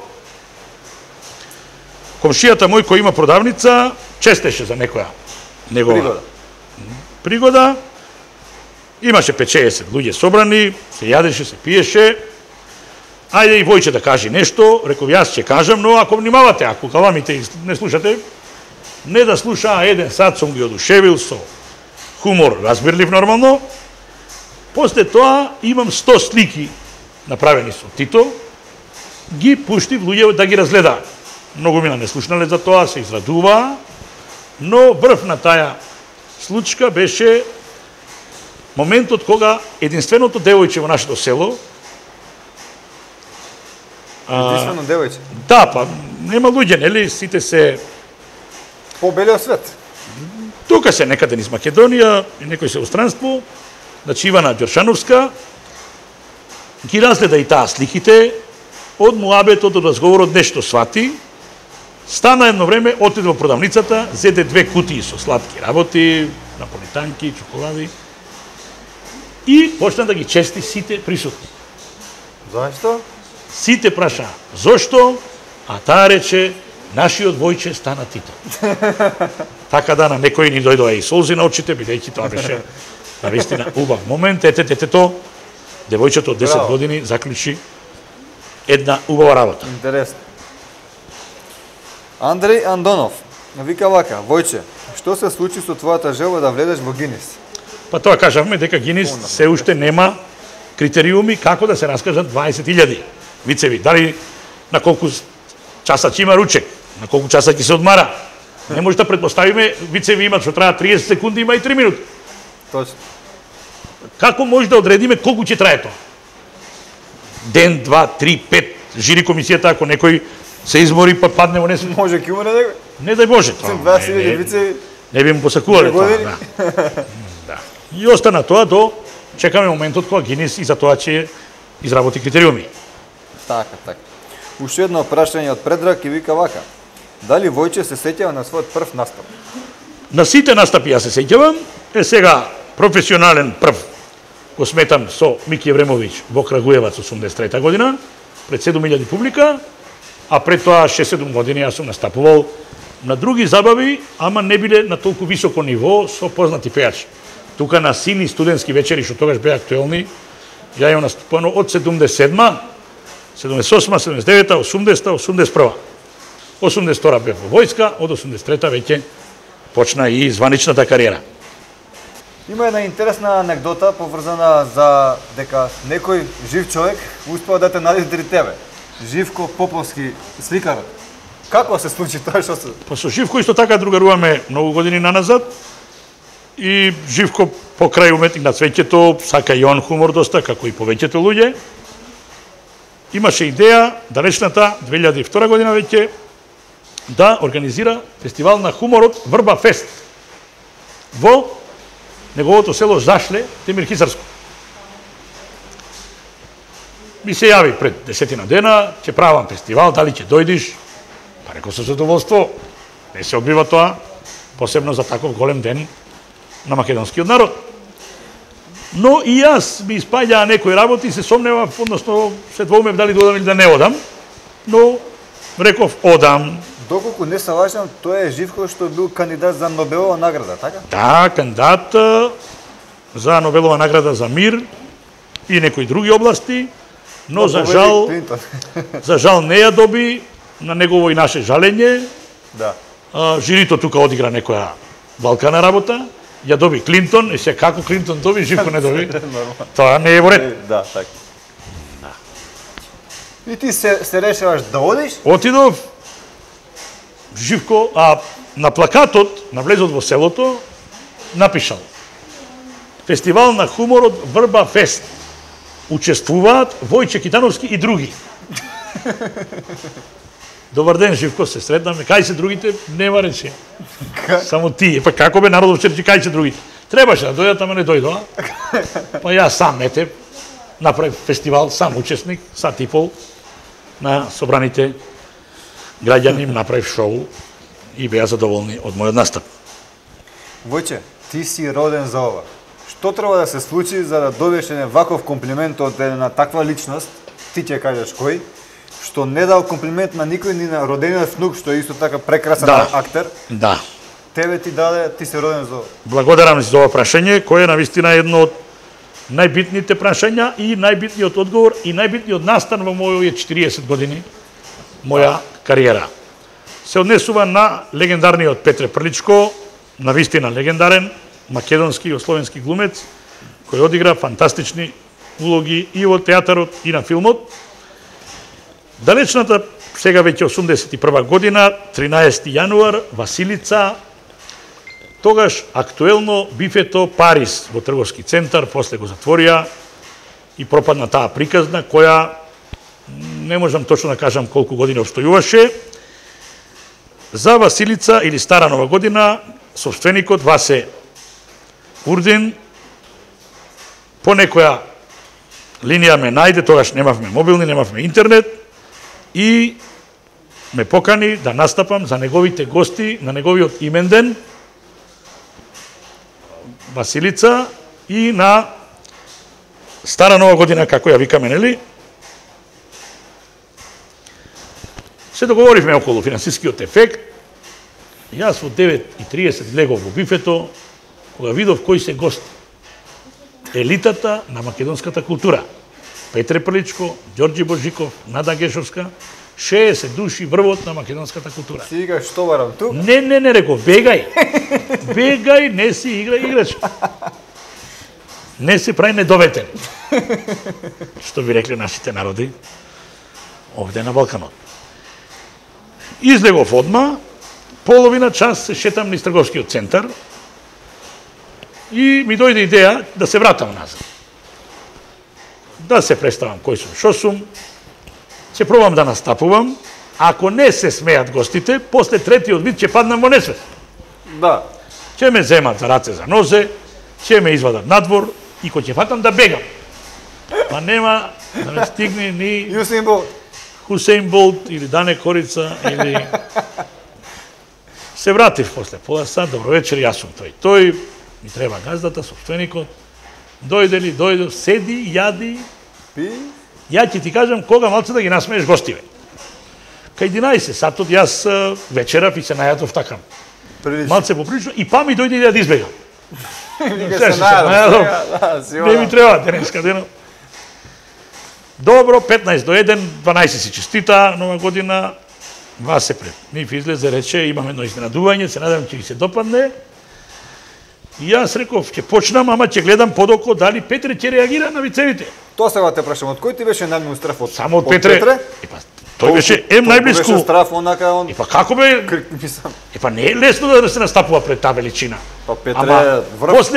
Комшијата мој кој има продавница, честеше за некоја негова пригода. Имаше 5-60 луѓе собрани, се јадеше, се пиеше. Ајде и Војче да кажи нешто, реков јас ќе кажам, но ако внимавате, ако каламите и не слушате, не да слуша, еден сат сум ги одушевил со хумор, разбирлив нормално. После тоа имам 100 слики направени со Тито, ги пуштив луѓе да ги разгледаат. Многу мина не слушнале за тоа, се израдува, но врв на таја случка беше моментот кога единственото девојче во нашето село, Единствено девојче. Да, па нема луѓе, нели, сите се По белиот свет. тука се некаде низ Македонија, и некој се устранство, значи Ивана Ѓоршановска, ги разгледа и таа сликите, од муабетот, од разговорот нешто свати, стана едно време, отиде во продавницата, зеде 2 кутии со сладки работи, наполитанки, чоколади, и почна да ги чести сите присутни. Зашто? Сите праша, зошто? А таа рече, нашиот Војче стана Тито. Така да на некои ни дојдоа и солзи на очите, бидејќи тоа беше навистина убав момент. Детето, девојчето од 10 Браво. години заклучи една убава работа. Интересно. Андреј Андонов вика вака: Војче, што се случи со твојата желба да влезеш во Гинис? Па тоа кажавме дека Гинис се уште нема критериуми како да се раскажат 20.000 вицеви. Дали на колку часа ќе има ручек, на колку часа ќе се одмара. Не може да предпоставиме вицеви имат што траат 30 секунди, има и 3 минути. Точно. Како може да одредиме колку ќе трае тоа? Ден, 2, 3, 5, жири комисијата, ако некој се измори па падне во несвест. Може ќе умре некој? Не дај Боже тоа. 20.000 вицеви. Не би му посакувале тоа. години. Да. И остана тоа до чекаме моментот кога Гинис и за тоа ќе изработи критериуми. Така, така. Уште едно прашање од Предраг и вика вака: дали Војче се сеќава на својот прв настап? На сите настапи јас се сеќавам, сега професионален прв го сметам со Мики Евремовиќ во Крагуевац 83 година, пред 7000 публика, а пред тоа 6-7 години јас сум настапувал на други забави, ама не биле на толку високо ниво со познати пејачи. Тука на сини студентски вечери, што тогаш беа актуелни, ја имам настапувано од 77-ма, 78-ма, 79-та, 80-та, 81-та. 82-та бев во војска, од 83-та веќе почна и званичната кариера. Има една интересна анекдота поврзана за дека некој жив човек успеа да те најде тебе. Живко Поповски, сликарот. Како се случи тоа што се... Па со Живко исто така другаруваме многу години наназад и Живко покрај уметник на цвеќето сака и он хумор доста, како и повеќето луѓе. Имаше идеја далечната 2002 година веќе да организира фестивал на хуморот Врба Фест во неговото село Зашле, Темир Хисарско. Ми се јави пред 10 дена, ќе правам фестивал, дали ќе дојдиш? Па реков со задоволство, не се одбива тоа, посебно за таков голем ден на македонскиот народ. Но и јас ми испаѓаа некои работи, се сомневав, односно се двоумев дали да одам или да не одам, но реков одам. Доколку не се лажам, тој е Живко што бил кандидат за Нобелова награда, така? Да, кандидат за Нобелова награда за мир и некои други области, но за жал, за жал не ја доби, на негово и наше жалење. Да. Жирито тука одигра некоја балкана работа, ја доби Клинтон, и се како Клинтон доби, Живко не доби. Тоа не е во ред. Да, така. И ти се решаваш да одиш? Отидов, Живко, а на плакатот, на влезот во селото, напишал Фестивал на хуморот Врба Фест. Учествуваат Војче Китановски и други. Добар ден, Живко, се сретнаме. Кај се другите? Нема рече. Само ти. Па како бе народов че кај се другите? Требаше да дојдат, ама не дојдоа. Па јас сам, ете, направив фестивал, сам учесник, сат и пол, на собраните граѓани им направив шоу и беа задоволни од мојот настап. Војче, ти си роден за ова. Што треба да се случи за да добиеш еден ваков комплимент од една таква личност, ти ќе кажеш кој, што не дал комплимент на никој, ни на родениот внук, што е исто така прекрасен актер. Да. Тебе ти даде, ти си роден за ова. Благодарам за ова прашање, кое е навистина едно од најбитните прашања и најбитниот одговор и најбитниот настан во мојот 40 години, моја кариера. Се однесува на легендарниот Петре Прличко, навистина легендарен, македонски и југословенски глумец, кој одигра фантастични улоги и во театарот и на филмот. Далечната, сега веќе 81 година, 13 јануар, Василица, тогаш актуелно бифето Парис во трговски центар, после го затворија и пропадна таа приказна, која не можам точно да кажам колку години обстојуваше. За Василица или Стара Нова година, собственикот Васе Урдин по некоја линија ме најде, тогаш немавме мобилни, немавме интернет и ме покани да настапам за неговите гости на неговиот именден Василица и на Стара Нова година, како ја викаме, нели? Се договоривме околу финансискиот ефект. Јас во 9:30 влегов во бифето, кога видов кои се гости. Елитата на македонската култура. Петре Прличко, Ѓорѓи Божиков, Нада Гешовска, 60 души врвот на македонската култура. Си играш што барам тук? Не, реков, бегај. Бегај, не си играч. Не се прави недоветен. Што би рекле нашите народи овде на Балканот. Излегов одма, половина час се шетам низ трговскиот центар и ми дојде идеја да се вратам назад. Да се представам кој сум, шо сум, ќе пробам да настапувам, ако не се смеат гостите, после третиот вид ќе паднам во несвест. Да. Ќе ме земат за раце за нозе, ќе ме извадат надвор и кој ќе фатам да бегам. Па нема да ме стигне ни Хусейн Болт или Дане Корица или... Се вратив после пола сат, добро вечер, јас сум тој. Тој ми треба газдата, собственикот. Дојде, седи, јади. Пи? Ја ќе ти кажам кога малце да ги насмееш гостиве. Кај 11 сатот јас вечерав и се најадов така. Малце поприлично и па ми дојде да избегам. Се најадов. Не ми треба денеска денот. Добро, 15 до 1, 12 си честита нова година. Васе пред нив излезе, рече, имам едно изненадување, се надам ќе ги се допадне. И јас реков, ќе почнам, ама ќе гледам подоко дали Петре ќе реагира на вицевите. Тоа сега те прашам, од кој ти беше најмногу страф? Само од Петре? Епа, тој беше најблиску. Беше страф, онака он... Епа, како бе? Епа, не е лесно да се настапува пред таа величина. Па Петре врв...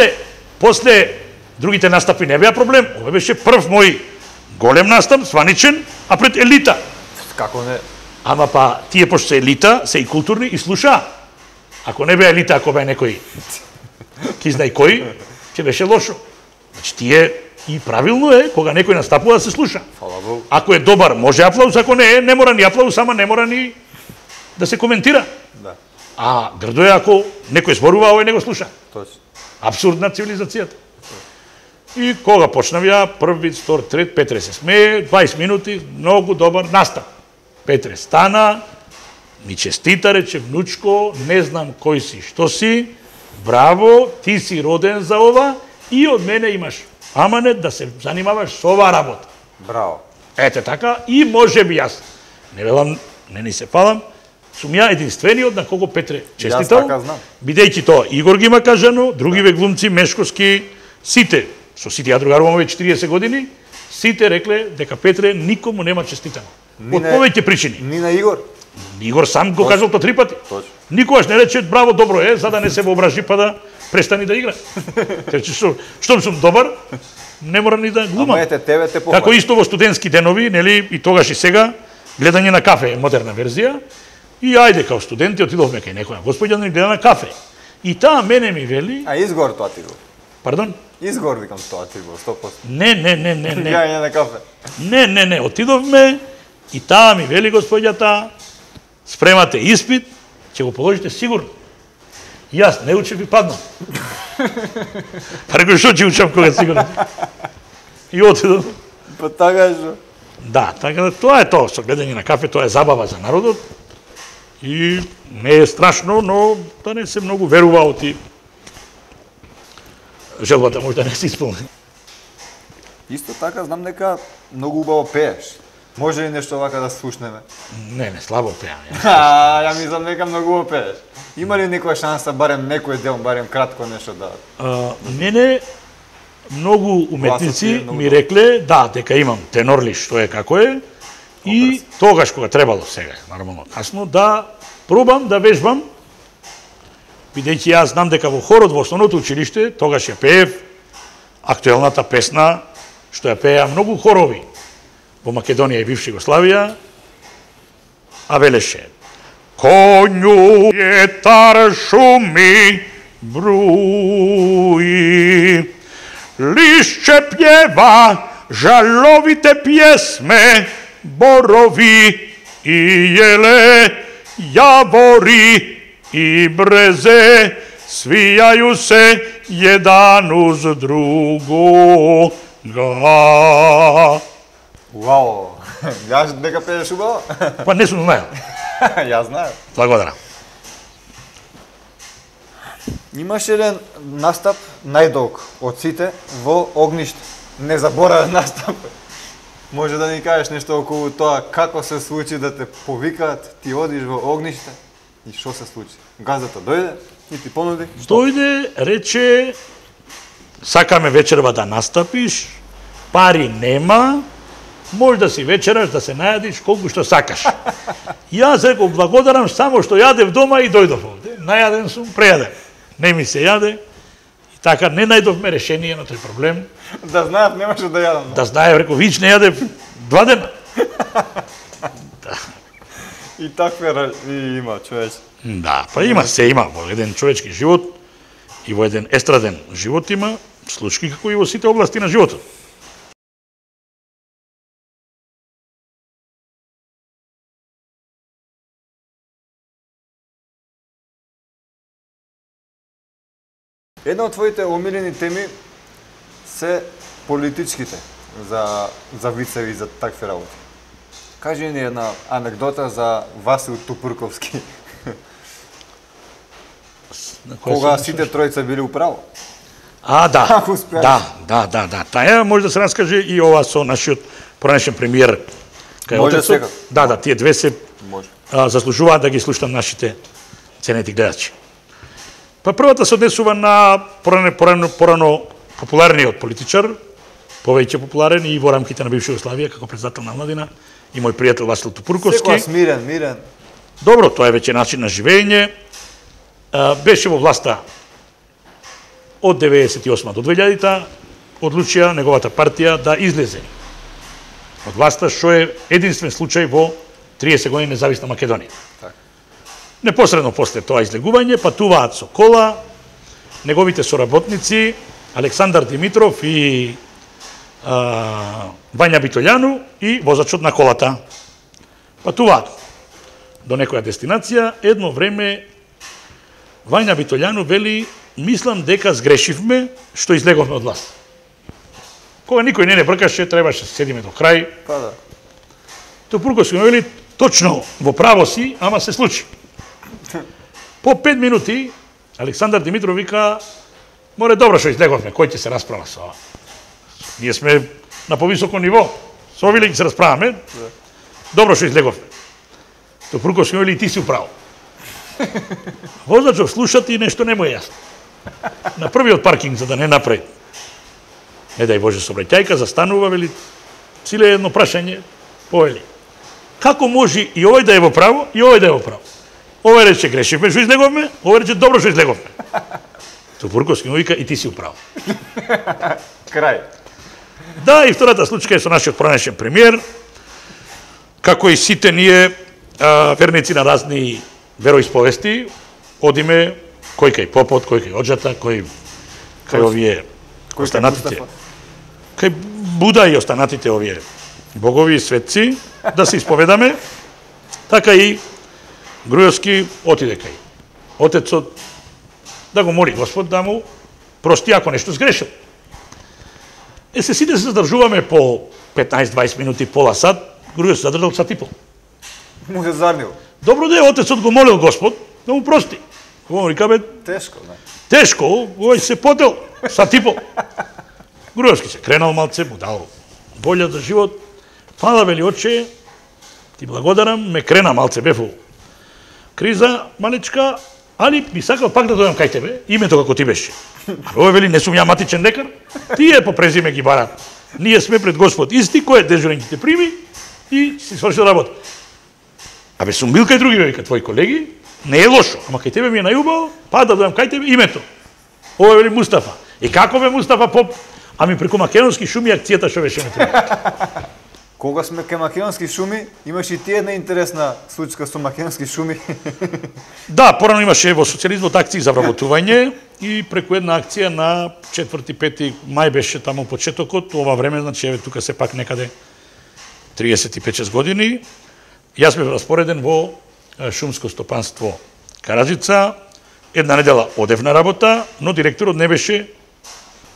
После другите настапи не беа проблем. Ова беше прв мој голем настап, сваничен, а пред елита. Како не? Ама па, тие пошто се елита, се и културни и слуша. Ако не беа елита, ако беа некој ки знај кој, ќе беше лошо. Значи, тие и правилно е, кога некој настапува да се слуша. Фала Богу. Ако е добар, може аплауз, ако не е, не мора ни аплауз, ама не мора ни да се коментира. Да. А грдо е ако некој зборува, овој не го слуша. Точно. Абсурдна цивилизацијата. И кога почнав ја, прв вид, втор, трет, Петре се смее, 20 минути, многу добар настап. Петре стана, ми честита, рече, внучко, не знам кој си, што си, браво, ти си роден за ова и од мене имаш аманет да се занимаваш со оваа работа. Браво. Ете така, и може би јас, не велам, не ни се палам, сум ја единствениот на кого Петре честитал, така знам. бидејќи тоа Игор ги има кажано, другиве глумци, Мешковски, сите, со сите ја другарувам овие 40 години, Сите рекле дека Петре никому нема честитано. Од повеќе причини. Ни на Игор. Игор сам го кажал тоа 3 пати. Точно. Никогаш не рече браво, добро е, за да не се воображи па да престани да игра. Рече штом сум добар, не морам ни да глумам. Ама ете тебе те похвали. Како исто во студентски денови, нели, и тогаш и сега, гледање на кафе е модерна верзија. И ајде као студенти отидовме кај некоја господја да ни гледа на кафе. И таа мене ми вели, А изгор тоа ти го. пардон? Изгор викам тоа ти го 100%. Не. Јање на кафе. Не, отидовме и таа ми вели господјата, спремате испит, ќе го положите сигурно. И јас не учев и паднам. Па рекој, што ќе учам кога сигурно? И отидов. Па така што. Да, така да тоа е тоа, со гледање на кафе, тоа е забава за народот. И не е страшно, но да не се многу верува оти желбата може да не се исполни. Исто така знам дека многу убаво пееш. Може ли нешто вака да слушнеме? Не, слабо пеам. Ја мислам дека многу убаво пееш. Има ли некоја шанса барем некој дел, барем кратко нешто да? Мене многу уметници Гласот е многу ми рекле да, дека имам тенорли што е како е и тогаш кога требало сега, нормално касно, да пробам да вежбам, бидејќи јас знам дека во хорот во основното училиште тогаш ја пеев актуелната песна што ја пееа многу хорови во Македонија и бивша Југославија, а велеше: Конју јетар шуми бруи, лишче пјева жаловите пјесме, борови и јеле, јавори и брезе, свијају се један уз другога. Уау! Јас дека пееш убаво? Па не сум знаел. Јас знаев. Благодарам. Имаше еден настап најдолг од сите во Огниште. Незаборавен настап. Може да ни кажеш нешто околу тоа како се случи да те повикаат, ти одиш во Огниште и што се случи? Газата дојде и ти понуди? Дојде, рече, сакаме вечерва да настапиш, пари нема, може да си вечераш, да се најадиш колку што сакаш. Јас реков благодарам само што јадев дома и дојдов овде. Најаден сум, прејаден. Не ми се јаде. И така не најдовме решение на тој проблем. Да знаев, немаше да јадам. Да знаев, реков, вич не јадев 2 дена. И такве има, човече. Да, па има, се има во еден човечки живот и во еден естраден живот има случаи како и во сите области на животот. Една од твоите омилени теми се политичките за вицеви за такви работи. Кажи ни една анекдота за Васил Тупурковски. Кога сите тројца били управо. Да. Како успеаш? Да. Таја може да се раскаже и ова со нашиот поранешен премиер кај Може отецот. секако. Да, тие две се Може. заслужуваат да ги слушнат нашите ценети гледачи. Па првата се однесува на порано популарниот политичар, повеќе популарен и во рамките на бивша Југославија како председател на младина и мој пријател Васил Тупурковски. Секојаш мирен. Добро, тоа е веќе начин на живење. Беше во власта од 98 до 2000-та, одлучија неговата партија да излезе од власта, што е единствен случај во 30 години независна Македонија. Непосредно после тоа излегување патуваат со кола неговите соработници Александар Димитров и Вања Битолјану и возачот на колата. Патуваат до некоја дестинација, едно време Вања Битолјану вели: мислам дека сгрешивме што излеговме од власт. Кога никој не бркаше, требаше да седиме до крај. Па да. Тупурковски му вели: точно во право си, ама се случи. По 5 минути Александар Димитров вика: море добро што излеговме, кој ќе се расправа со ова? Ние сме на повисоко ниво. Со овие ќе се расправаме. Добро што излеговме. Тупурковски му вели: и ти си управо. Возачот слушат и нешто не му е јасно. На првиот паркинг, за да не направи, не дај Боже, сообраќајка, застанува, вели: Циле едно прашање, повели. Како може и овој да е во право, и овој да е во право? Овој рече грешивме што излеговме, овој рече добро што излеговме. Тупурковски му вика и ти си управо. Крај. Да, и втората случка е со нашиот поранешен премиер, како и сите ние верници на разни вероисповести, одиме кој кај попот, кој кај оџата, кој кај овие останатите. Кај Буда и останатите овие богови и светци, да се исповедаме, така и Груевски отиде кај отецот да го моли Господ да му прости ако нешто сгрешил. Се сите се задржуваме по 15-20 минути, пола сат, Груевски задржал сат и пол. Му се зарнил. Добро да е, отецот го молил Господ да му прости. Го река бе, Тешко, не? тешко, овој се потел, сат и пол. Груевски се кренал малце, му дал волја за живот. Фала, вели, отче, ти благодарам, ме крена малце, бев у криза, малечка, али би сакал пак да дојдам кај тебе, името како ти беше. Овој вели, не сум ја матичен лекар, тие по презиме ги барат. Ние сме пред Господ исти, кој е дежурен ќе те прими и си свршил работа. Абе, сум бил кај други, века, твои колеги, не е лошо, ама кај тебе ми е најубаво, па да дојдам кај тебе, името. Овој вели Мустафа. И како бе Мустафа поп? Ами преку македонски шуми акцијата што беше на тебе. Кога сме кај македонски шуми, имаш и ти една интересна случка со македонски шуми. Да, порано имаше во социјализмот акции за вработување и преку една акција на 4-5 мај беше таму почетокот, ова време, значи еве тука се пак некаде 35-6 години. Јас бев распореден во шумско стопанство Караджица. Една недела одев на работа, но директорот не беше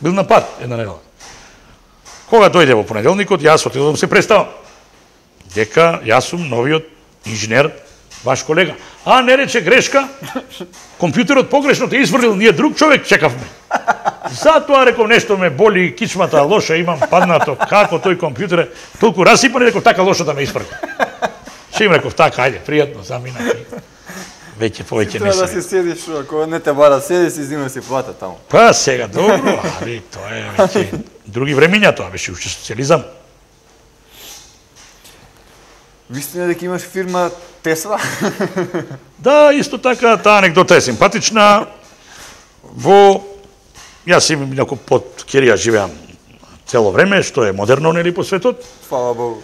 бил на пат една недела. Кога дојде во понеделникот, јас отидов да се представам. Дека јас сум новиот инженер, ваш колега. А, не рече грешка, компјутерот погрешно те изврлил, ние друг човек чекавме. Затоа реков нешто ме боли, кичмата лоша имам паднато, како тој компјутер е толку расипан, реков така лошо да ме испрга. Ше им реков така, ајде, пријатно, замина. Веќе повеќе не Треба да се. си седиш, ако не те бара, седи си, зима си плата таму. Па сега, добро, али тоа е веќе други времиња, тоа беше уште социјализам. Вистина дека имаш фирма Тесла? Да, исто така, таа анекдота е симпатична. Јас имам некој под Кирија живеам цело време, што е модерно, нели, по светот. Фала Богу.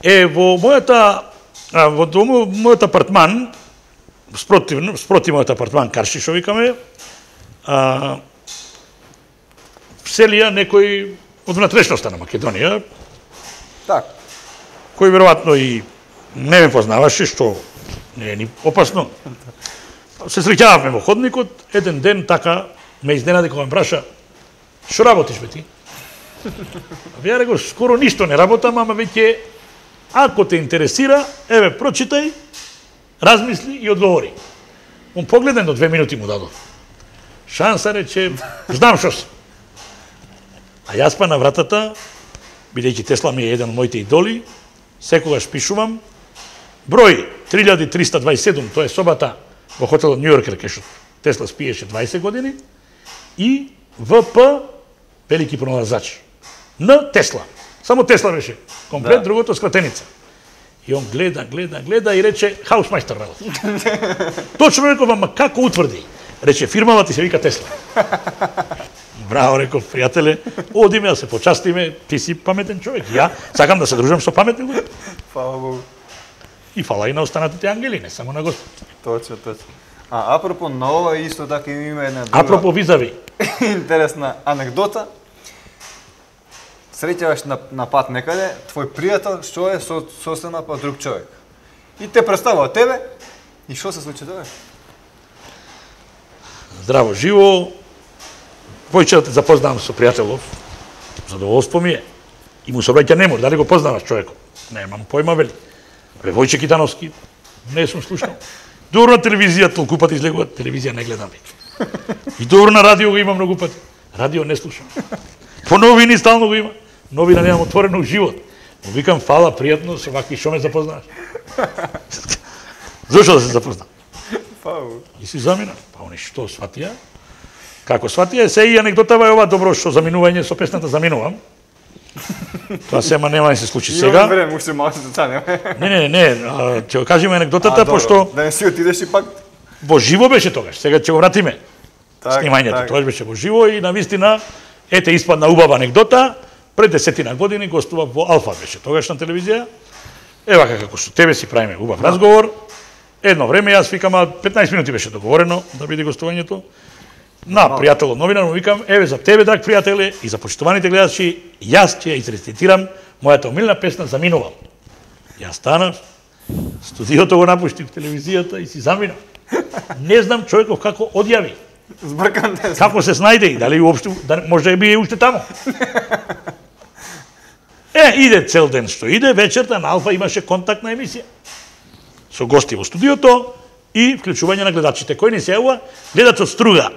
Во мојот апартман, спроти мојот апартман Карши, што викаме, вселија некој од внатрешноста на Македонија, Так. кој веројатно и не ме познаваше, што не е ни опасно. Се среќававме во ходникот, еден ден така ме изненади кога ме праша: "Што работиш бе ти?" Ја реков: "Скоро ништо не работам, ама веќе ако те интересира, еве прочитај, размисли и одговори." Он погледен до 2 минути му дадов. Шанса рече: "Знам што си." А јас па на вратата, бидејќи Тесла ми е еден од моите идоли, секогаш пишувам број 3327, тоа е собата во хотелот Нью Йоркер, кај што Тесла спиеше 20 години, и ВП, велики проналазач, на Тесла. Само Тесла беше комплет, Да. другото скратеница. И он гледа и рече: "Хаусмајстер работи." Точно реков: "Ама како утврди?" Рече: "Фирмава ти се вика Тесла." Браво, реков: "Пријателе, одиме да се почастиме, ти си паметен човек. Ја сакам да се дружам со паметни луѓе." Фала Богу. И фала и на останатите ангели, не само на Господ. Точно, точно. А апропо на ова, исто така има една друга Апропо визави, интересна анекдота. Среќаваш на пат некаде, твој пријател што е сосема па друг човек. И те представува тебе, и што се случи тоа? здраво живо, појче да те запознавам со пријателов, задоволство ми е. И му се обраќа: "Не може, дали го познаваш човекот?" "Немам појма", вели. "Бе, Војче Китановски, не сум слушнал." "Добро на телевизија, толку пати излегува, телевизија не гледам веќе." "И добро на радио го има многу пати." "Радио не слушам." "По новини стално го има." "Новина немам отворено у живот." Му викам: "Фала, пријатно, со вакви што ме запознаваш." Зошто да се запознам? Фау. И си замина. Па они што сватија? Како сватија? Се и анекдотава е ова, добро што заминување со песната "Заминувам." Тоа сема нема да се случи Имаме сега. време, уште малку деца нема. Не, ќе го кажеме анекдотата, пошто Да не си отидеш и пак. во живо беше тогаш. Сега ќе го вратиме. Снимањето, так. тоа беше во живо и навистина, ете испадна убава анекдота, пред 10 години гостува во Алфа беше тогаш на телевизија. Ева како со тебе си правиме убав разговор. Едно време јас викам, 15 минути беше договорено да биде гостувањето. На пријател новинар му викам, еве за тебе, драг пријателе, и за почитуваните гледачи, јас ќе ја изрецитирам мојата омилна песна "Заминувам". Јас станав, студиото го напуштив, телевизијата и си заминав. Не знам човеков како одјави. Збркан ден. Како се снајде и дали уопште, може да би уште таму. Иде цел ден што иде, вечерта на Алфа имаше контактна емисија. Со гости во студиото и вклучување на гледачите. Кој не се јавува? Гледач од Струга.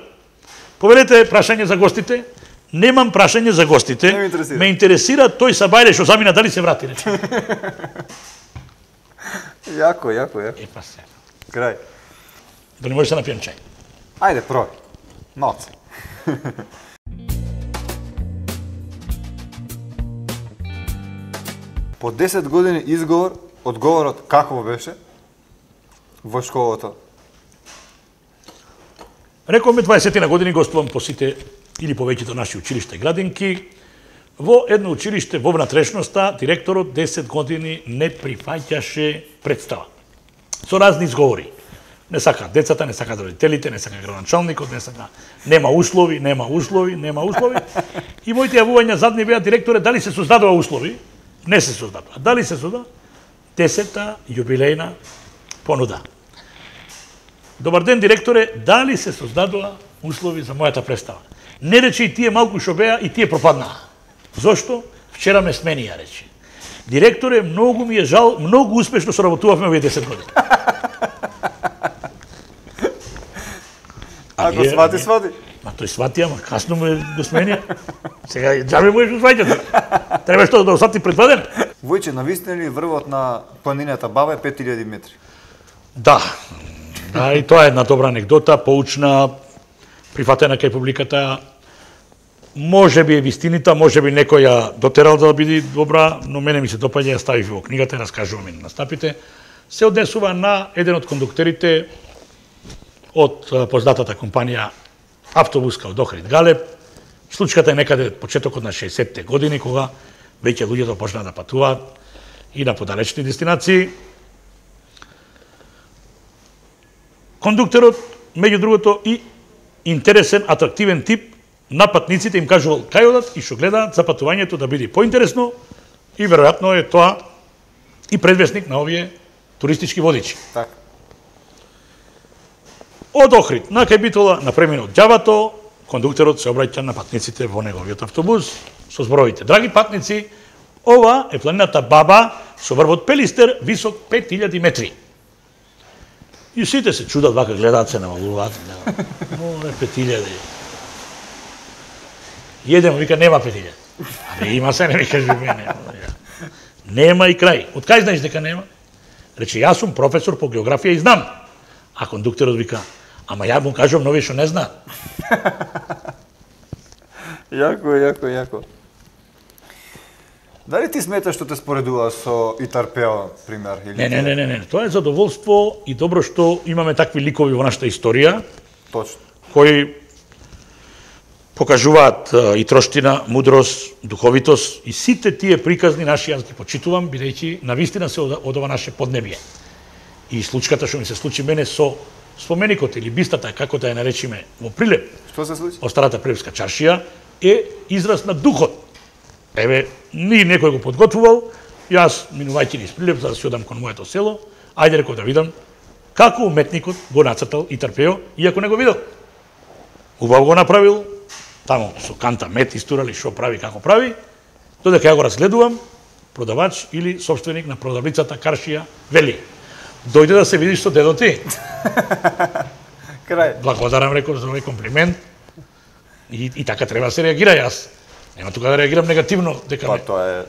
Повелете прашање за гостите. Немам прашање за гостите. Не ме интересира. Ме интересира тој Сабајле што замина дали се врати. Јако. Па се. Крај. Да не може да се напијам чај. Ајде, пробај. Малце. По 10 години одговорот какво беше во школата? Рековме 20 на години гостувам по сите или повеќето наши училишта и градинки. Во едно училиште во внатрешноста директорот 10 години не прифаќаше представа. Со разни изговори. Не сака децата, не сака родителите, не сака градоначалникот, не сака нема услови. И моите јавувања задни беа директоре дали се создадува услови? Не се создадува. Дали се создадува? 10-та јубилејна понуда. Добар ден, директоре, дали се создадува услови за мојата представа? Не рече и тие малку што беа и тие пропаднаа. Зошто? Вчера ме сменија, рече. Директоре, многу ми е жал, многу успешно соработувавме овие 10 години. Ако свати. Ма тој свати, ама касно ме го сменија. Сега џабе можеш да сваќате. Треба што да освати предвидено. Војче, навистина ли врвот на планината Баба е 5000 метри? Да. Да, и тоа е една добра анекдота, поучна, прифатена кај публиката. Може би е вистинита, може би некој ја дотерал да биде добра, но мене ми се допаѓа, ја ставив во книгата, раскажувам и на настапите. Се однесува на еден од кондуктерите од познатата компанија автобуска од Охрид Галеб. Случката е некаде почетокот на 60-те години, кога веќе луѓето почнаа да патуваат и на подалечни дестинации. Кондуктерот, меѓу другото, и интересен, атрактивен тип, на патниците им кажувал кај одат и што гледаат за патувањето да биде поинтересно и веројатно е тоа и предвесник на овие туристички водичи. Така. Од Охрид на кај Битола, на преминот џабато, кондуктерот се обраќа на патниците во неговиот автобус со зборовите: "Драги патници, ова е планината Баба со врвот Пелистер, висок 5000 метри." И сите се чудат, вака гледаат, се навалуваат. Ова е 5000. Еден му вика: "Нема 5000." Абе, има се, не ми кажи мене. Нема и крај. Од кај знаеш дека нема? Рече: "Јас сум професор по географија и знам." А кондуктерот вика: "Ама ја му кажувам на овие што не знаат." Јако. Дали ти сметаш што те споредува со Итарпео, пример? Или Не. Тоа е задоволство и добро што имаме такви ликови во нашата историја, Точно. кои покажуваат и троштина, мудрост, духовитост и сите тие приказни наши јас ги почитувам, бидејќи навистина се од ова наше поднебје. И случката што ми се случи мене со споменикот или бистата, како да ја наречиме, во Прилеп, Што се случи? од старата Прилепска чаршија, е израз на духот. Еве, ни некој го подготвувал, јас, минувајќи низ Прилеп, за да си одам кон моето село, ајде реков да видам како уметникот го нацртал Итарпео, иако не го видел. Убаво го направил, таму со канта мет истурали што прави, како прави, додека ја го разгледувам, продавач или собственик на продавницата Каршија вели: "Дојде да се видиш со дедо ти." Крај. Благодарам, реков, за овој комплимент. И така треба да се реагира. Јас нема тука да реагирам негативно, дека Па не. тоа е.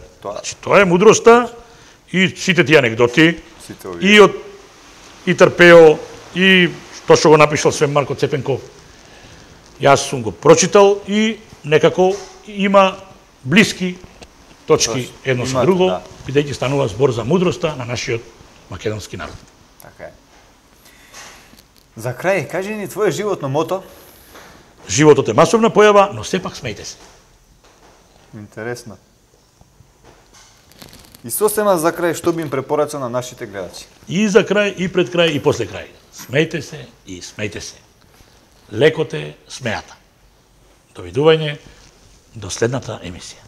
Тоа е мудроста и сите тие анегдоти Сите овие. и од Итарпео и тоа што го напишал Свен Марко Цепенков. Јас сум го прочитал и некако има блиски точки едно со имате, друго, да. бидејќи станува збор за мудроста на нашиот македонски народ. Така е. За крај, кажи ни твое животно мото. Животот е масовна појава, но сепак смејте се. Интересно. И сосема за крај, што би им препорачал на нашите гледачи? И за крај, и пред крај, и после крај. Смејте се и смејте се. Лекот е смејата. Довидување до следната емисија.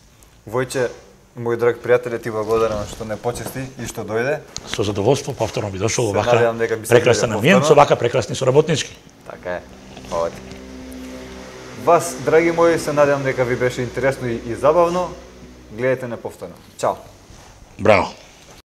Војче, мој драг пријателе, ти благодарам што не почести и што дојде. Со задоволство повторно би дошол Се овака надевам дека би се прекрасен виделе амиент, со повторно. овака прекрасни соработнички. Така е. Хвала ти. Вас, драги мои, се надевам дека ви беше интересно и забавно. Гледайте неповторно. Чао. Браво.